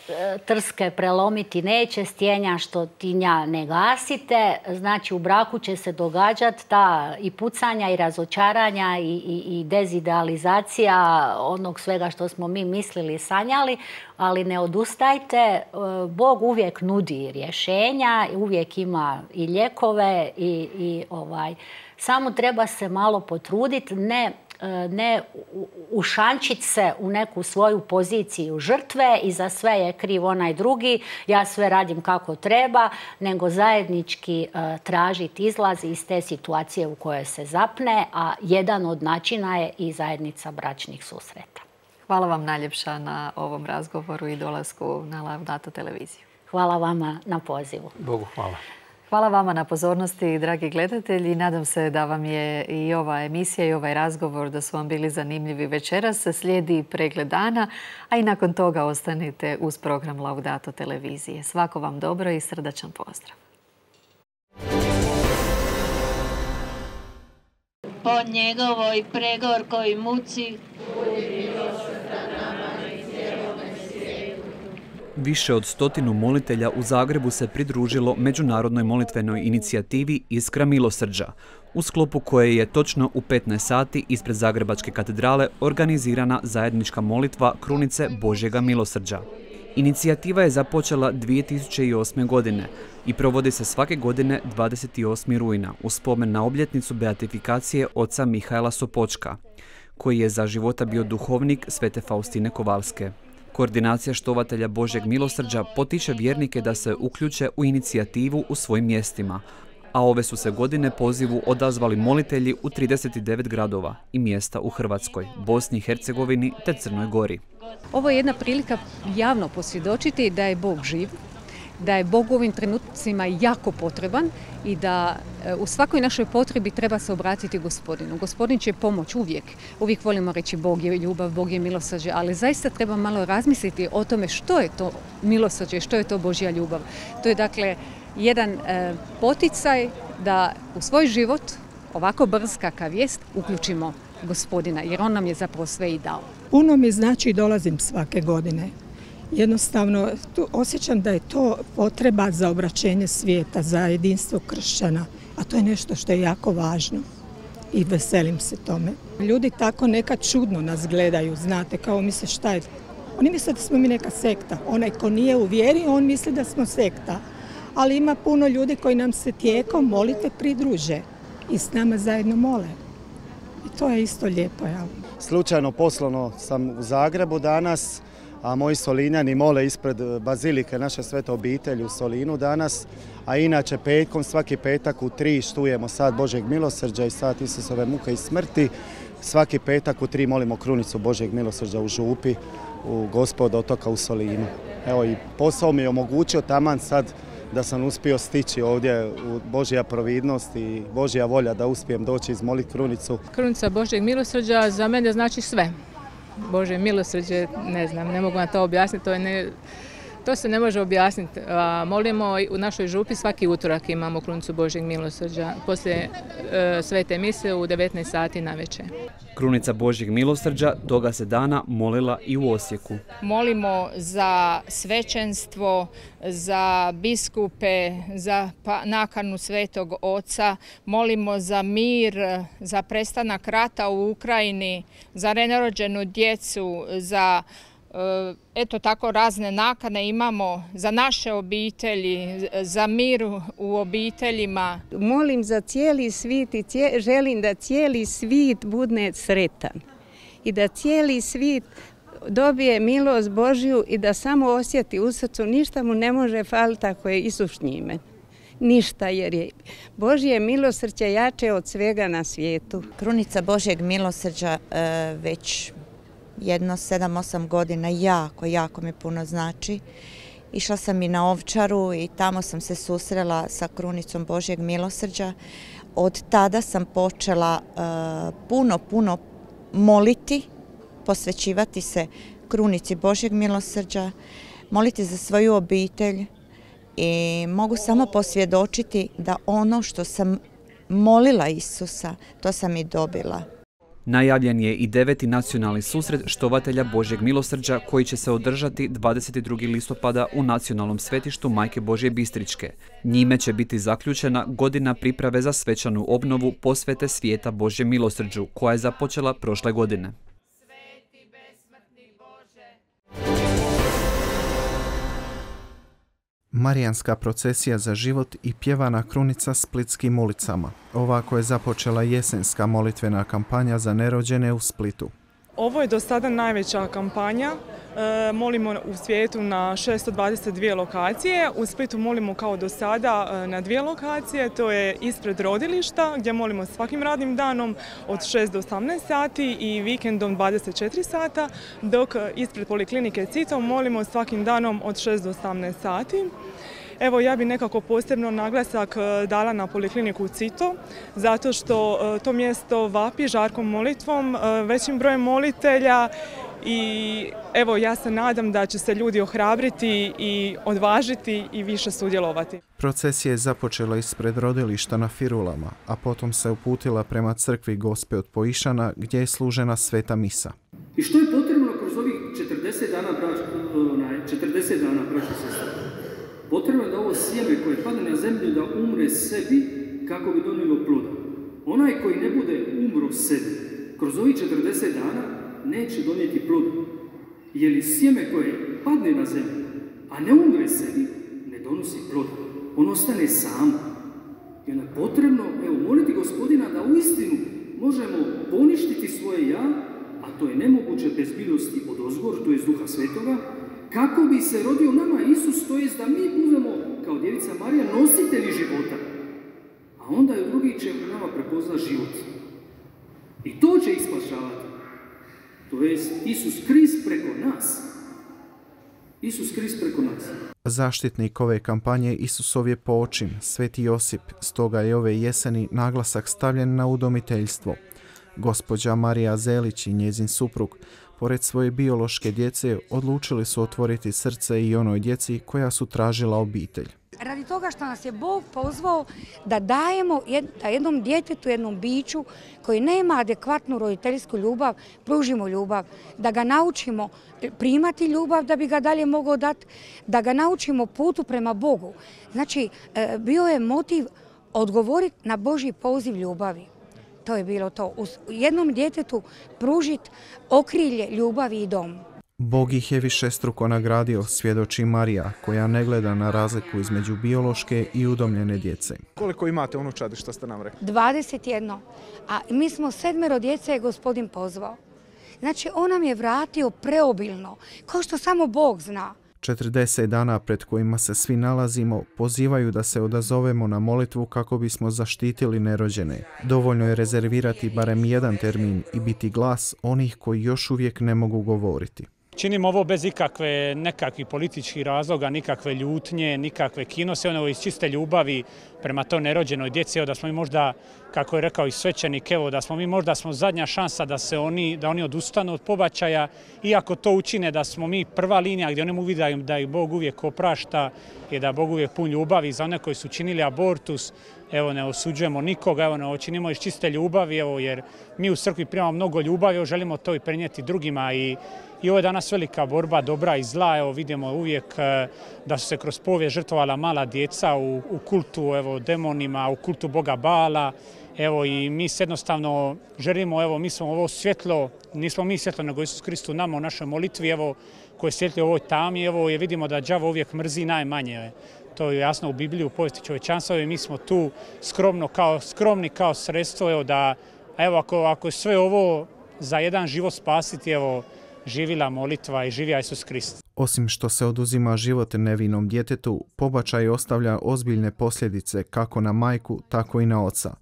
trske prelomiti neće, stjenja što tinja ne gasite. Znači, u braku će se događati ta i pucanja i razočaranja i, i, i dezidealizacija onog svega što smo mi mislili i sanjali, ali ne odustajte. E, Bog uvijek nudi rješenja, uvijek ima i lijekove i, i ovaj, samo treba se malo potruditi, ne ne ušančiti se u neku svoju poziciju žrtve i za sve je kriv onaj drugi, ja sve radim kako treba, nego zajednički uh, tražiti izlaz iz te situacije u kojoj se zapne, a jedan od načina je i zajednica bračnih susreta. Hvala vam najljepša na ovom razgovoru i dolasku na Laudato televiziju. Hvala vama na pozivu. Bogu hvala. Hvala vama na pozornosti, dragi gledatelji. Nadam se da vam je i ova emisija i ovaj razgovor da su vam bili zanimljivi večeras. Slijedi pregled dana, a i nakon toga ostanite uz program Laudato televizije. Svako vam dobro i srdačan pozdrav. Po njegovoj pregorkoj muci Više od stotinu molitelja u Zagrebu se pridružilo međunarodnoj molitvenoj inicijativi Iskra milosrđa, u sklopu koje je točno u petnaest sati ispred Zagrebačke katedrale organizirana zajednička molitva Krunice Božjega milosrđa. Inicijativa je započela dvije tisuće osme. godine i provodi se svake godine dvadeset osmog rujna u spomen na obljetnicu beatifikacije oca Mihaela Sopočka, koji je za života bio duhovnik Svete Faustine Kovalske. Koordinacija štovatelja Božjeg milosrđa potiče vjernike da se uključe u inicijativu u svojim mjestima, a ove su se godine pozivu odazvali molitelji u trideset devet gradova i mjesta u Hrvatskoj, Bosni i Hercegovini te Crnoj Gori. Ovo je jedna prilika javno posvjedočiti da je Bog živ, da je Bog u ovim trenucima jako potreban i da u svakoj našoj potrebi treba se obratiti Gospodinu. Gospodin će pomoć uvijek. Uvijek volimo reći Bog je ljubav, Bog je milosrđe, ali zaista treba malo razmisliti o tome što je to milosrđe, što je to Božja ljubav. To je dakle jedan e, poticaj da u svoj život, ovako brz kakav jest, uključimo Gospodina, jer on nam je zapravo sve i dao. Puno mi znači dolazim svake godine. Jednostavno tu osjećam da je to potreba za obraćenje svijeta, za jedinstvo kršćana, a to je nešto što je jako važno i veselim se tome. Ljudi tako nekad čudno nas gledaju, znate, kao misle šta je. Oni misle da smo mi neka sekta. Onaj ko nije u vjeri, on misli da smo sekta. Ali ima puno ljudi koji nam se tijekom molitve pridruže i s nama zajedno mole. I to je isto lijepo. Ja. Slučajno poslovno sam u Zagrebu danas, a moji Solinjani mole ispred bazilike naše Svete obitelji u Solinu danas, a inače petkom, svaki petak u tri štujemo sat Božjeg milosrđa i sat Isusove muke i smrti. Svaki petak u tri molimo krunicu Božjeg milosrđa u Župi, u Gospod otoka u Solinu. Evo i posao mi je omogućio taman sad da sam uspio stići ovdje u Božja providnost i Božja volja da uspijem doći izmoliti krunicu. Krunica Božjeg milosrđa za mene znači sve. Božje milosrđe, ne znam, ne mogu na to objasniti, to, je ne, to se ne može objasniti. A, molimo u našoj župi svaki utorak imamo krunicu Božjeg milosrđa, poslije e, svete mise u devetnaest sati navečer. Krunica Božjeg milosrđa toga se dana molila i u Osijeku. Molimo za svećenstvo, za biskupe, za nakanu Svetog Oca, molimo za mir, za prestanak rata u Ukrajini, za nerođenu djecu, za eto tako razne nakane imamo za naše obitelji, za mir u obiteljima. Molim za cijeli svijet i cijel, želim da cijeli svijet bude sretan i da cijeli svijet dobije milost Božju i da samo osjeti u srcu, ništa mu ne može faliti ako je Isus s njime. Ništa, jer je Božje milosrđe jače od svega na svijetu. Krunica Božjeg milosrđa e, već jedno sedam osam godina jako, jako mi puno znači. Išla sam i na Ovčaru i tamo sam se susrela sa krunicom Božjeg milosrđa. Od tada sam počela uh, puno, puno moliti, posvećivati se krunici Božjeg milosrđa, moliti za svoju obitelj i mogu samo posvjedočiti da ono što sam molila Isusa, to sam i dobila. Najavljen je i deveti nacionalni susret štovatelja Božjeg milosrđa koji će se održati dvadeset drugog listopada u nacionalnom svetištu Majke Božje Bistričke. Njime će biti zaključena godina priprave za svečanu obnovu posvete svijeta Božjem milosrđu koja je započela prošle godine. Marijanska procesija za život i pjevana krunica splitskim ulicama. Ovako je započela jesenska molitvena kampanja za nerođene u Splitu. Ovo je do sada najveća kampanja. E, molimo u svijetu na šesto dvadeset dvije lokacije. U Splitu molimo kao do sada na dvije lokacije. To je ispred rodilišta gdje molimo svakim radnim danom od šest do osamnaest sati i vikendom dvadeset četiri sata, dok ispred poliklinike Cito molimo svakim danom od šest do osamnaest sati. Evo, ja bi nekako posebno naglasak dala na polikliniku Cito, zato što to mjesto vapi žarkom molitvom, većim brojem molitelja i evo, ja se nadam da će se ljudi ohrabriti i odvažiti i više sudjelovati. Procesija je započela ispred rodilišta na Firulama, a potom se uputila prema crkvi Gospe od Poišana gdje je služena sveta misa. I što je potrebno kroz ovih četrdeset dana, četrdeset dana, braćo i sestre? Potrebno je da ovo sjeme koje padne na zemlju da umre sebi kako bi donijelo ploda. Onaj koji ne bude umro sebi kroz ovih četrdeset dana neće donijeti ploda. Jer li sjeme koje padne na zemlju, a ne umre sebi, ne donosi ploda. On ostane sam. I onda je potrebno, evo, moliti Gospodina da uistinu možemo poništiti svoje ja, a to je nemoguće bez milosti od ozgor, to je Duha Svetoga, kako bi se rodio nama Isus, to jest da mi budemo kao djevica Marija nositelji života. A onda je drugi će u nama prepozna život. I to će ispašavati. To jest Isus Krist preko nas. Isus Krist preko nas. Zaštitnik ove kampanje Isusov je poočin, Sveti Josip, stoga je ove jeseni naglasak stavljen na udomiteljstvo. Gospođa Marija Zelić i njezin suprug, pored svoje biološke djece, odlučili su otvoriti srce i onoj djeci koja su tražila obitelj. Radi toga što nas je Bog pozvao da dajemo jednom djetetu, jednom biću koji nema adekvatnu roditeljsku ljubav, pružimo ljubav, da ga naučimo primati ljubav da bi ga dalje mogao dati, da ga naučimo putu prema Bogu. Znači, bio je motiv odgovoriti na Božji poziv ljubavi. To je bilo to. U jednom djetetu pružiti okrilje ljubavi i dom. Bog ih je višestruko nagradio, svjedoči Marija, koja ne gleda na razliku između biološke i udomljene djece. Koliko imate unučadi, što ste nam rekli? dvadeset jedan. A mi smo sedmero djece je Gospodin pozvao. Znači, on nam je vratio preobilno, kao što samo Bog zna. četrdeset dana pred kojima se svi nalazimo pozivaju da se odazovemo na molitvu kako bismo zaštitili nerođene. Dovoljno je rezervirati barem jedan termin i biti glas onih koji još uvijek ne mogu govoriti. Činimo ovo bez ikakve nekakvih političkih razloga, nikakve ljutnje, nikakve kinose, ono iz čiste ljubavi prema to nerođenoj djeci, evo da smo mi možda, kako je rekao i svećenik, evo da smo mi možda smo zadnja šansa da se oni, da oni odustanu od pobačaja, iako to učine da smo mi prva linija gdje oni mu vide da ih Bog uvijek oprašta i da Bog uvijek pun ljubavi za one koji su činili abortus. Evo, ne osuđujemo nikoga, evo, ne činimo iz čiste ljubavi, evo, jer mi u crkvi primamo mnogo ljubavi, evo, želimo to i prenijeti drugima i I ovo je danas velika borba dobra i zla. Evo, vidimo uvijek da su se kroz povijest žrtvovala mala djeca u, u kultu evo, demonima, u kultu Boga Bala. Evo, i mi se jednostavno želimo, evo, mi smo ovo svjetlo, nismo mi svjetlo, nego Isus Krist u nama u našoj molitvi, evo, koje svjetli u ovoj tami, evo, je vidimo da đavo uvijek mrzi najmanje. To je jasno u Bibliji, u povijesti čovječanstva, i mi smo tu skromno kao, skromni kao sredstvo, evo, da, evo, ako, ako je sve ovo za jedan život spasiti, evo, živila molitva i živija Isus Krist. Osim što se oduzima život nevinom djetetu, pobačaj ostavlja ozbiljne posljedice kako na majku, tako i na oca.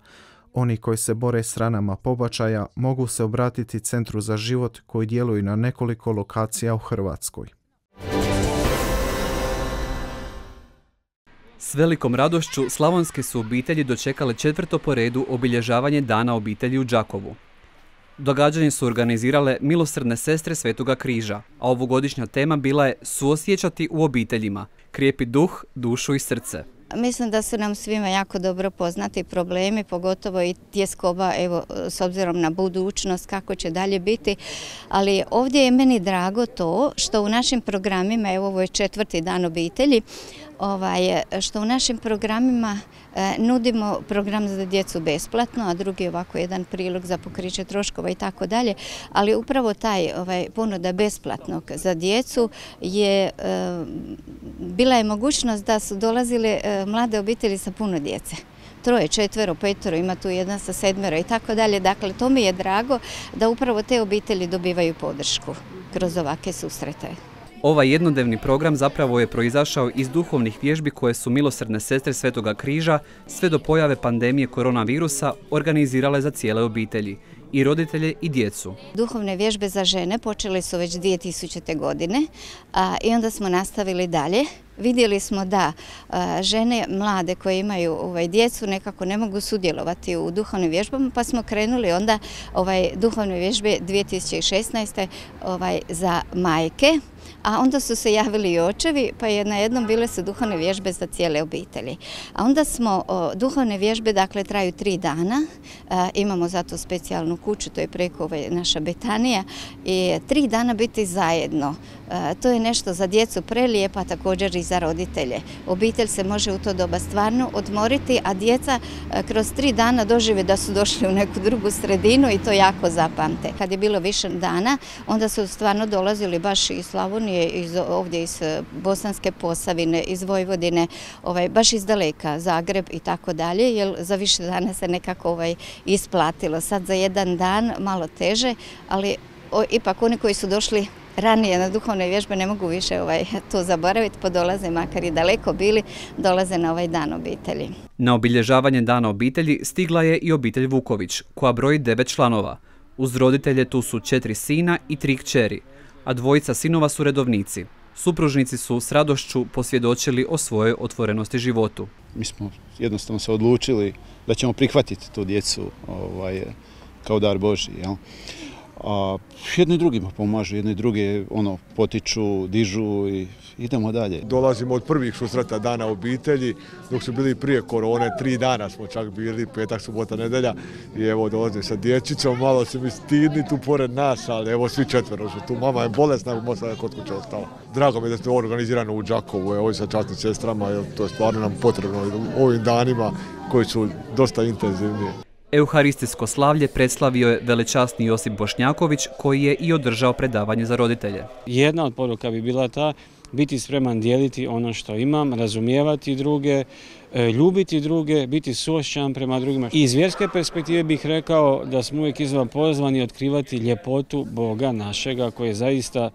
Oni koji se bore s ranama pobačaja mogu se obratiti Centru za život koji djeluje na nekoliko lokacija u Hrvatskoj. S velikom radošću slavonske su obitelji dočekale četvrto po redu obilježavanje Dana obitelji u Đakovu. Događanje su organizirale Milosrdne sestre Svetoga križa, a ovogodišnja tema bila je suosjećati u obiteljima, krijepi duh, dušu i srce. Mislim da su nam svima jako dobro poznati problemi, pogotovo i tjeskoba, evo, s obzirom na budućnost, kako će dalje biti. Ali ovdje je meni drago to što u našim programima, evo ovo je četvrti dan obitelji, ovaj, što u našim programima e, nudimo program za djecu besplatno, a drugi je ovako jedan prilog za pokriće troškova i tako dalje. Ali upravo taj ovaj, ponuda besplatnog za djecu je e, bila je mogućnost da su dolazile e, mlade obitelji sa puno djece. Troje, četvero, petero, ima tu jedna sa sedmero i tako dalje. Dakle, to mi je drago da upravo te obitelji dobivaju podršku kroz ovake susrete. Ovaj jednodnevni program zapravo je proizašao iz duhovnih vježbi koje su Milosrdne sestre Svetoga križa sve do pojave pandemije koronavirusa organizirale za cijele obitelji, i roditelje i djecu. Duhovne vježbe za žene počele su već dvije tisućite. godine a, i onda smo nastavili dalje. Vidjeli smo da a, žene mlade koje imaju ovaj, djecu nekako ne mogu sudjelovati u duhovnim vježbama, pa smo krenuli onda ovaj, duhovne vježbe dvije tisuće šesnaeste. Ovaj, za majke. A onda su se javili i očevi, pa je na jednom bile su duhovne vježbe za cijele obitelji. A onda smo, o, duhovne vježbe dakle traju tri dana, a, imamo zato specijalnu kuću, to je preko ovaj, naša Betanija, i tri dana biti zajedno. A, to je nešto za djecu prelijepa, također i za roditelje. Obitelj se može u to doba stvarno odmoriti, a djeca a, kroz tri dana dožive da su došli u neku drugu sredinu i to jako zapamte. Kad je bilo više dana, onda su stvarno dolazili baš iz Slavonije, iz, ovdje iz Bosanske Posavine, iz Vojvodine, ovaj, baš iz daleka, Zagreb i tako dalje, jer za više dana se nekako ovaj, isplatilo. Sad za jedan dan malo teže, ali o, ipak oni koji su došli ranije na duhovne vježbe ne mogu više ovaj, to zaboraviti, pa dolaze, makar i daleko bili, dolaze na ovaj dan obitelji. Na obilježavanje Dana obitelji stigla je i obitelj Vuković, koja broji devet članova. Uz roditelje tu su četiri sina i tri kćeri, a dvojica sinova su redovnici. Supružnici su s radošću posvjedočili o svojoj otvorenosti životu. Mi smo jednostavno se odlučili da ćemo prihvatiti tu djecu ovaj, kao dar Božji. Jel? A jedni i drugima pomažu, jedni i drugi ono, potiču, dižu i idemo dalje. Dolazimo od prvih susreta Dana obitelji, dok su bili prije korone, tri dana smo čak bili, petak, subota, nedelja, i evo dolazim sa dječicom, malo se mi stidni tu pored nas, ali evo svi četvero su tu, mama je bolesna, moja kod kuće ostala. Drago mi je da ste organizirano u Đakovu, evo sa časnim sestrama, jer to je stvarno nam potrebno u ovim danima koji su dosta intenzivni. Euharistijsko slavlje predstavio je velečasni Josip Bošnjaković, koji je i održao predavanje za roditelje. Jedna od poruka bi bila ta biti spreman dijeliti ono što imam, razumijevati druge, ljubiti druge, biti suosjećan prema drugima. I iz vjerske perspektive bih rekao da smo uvijek iznova pozvani otkrivati ljepotu Boga našega koji je zaista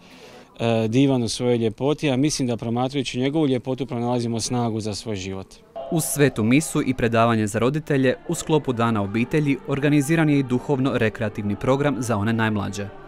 divan u svojoj ljepoti, a mislim da promatrajući njegovu ljepotu pronalazimo snagu za svoj život. Uz svetu misu i predavanje za roditelje, u sklopu Dana obitelji organiziran je i duhovno-rekreativni program za one najmlađe.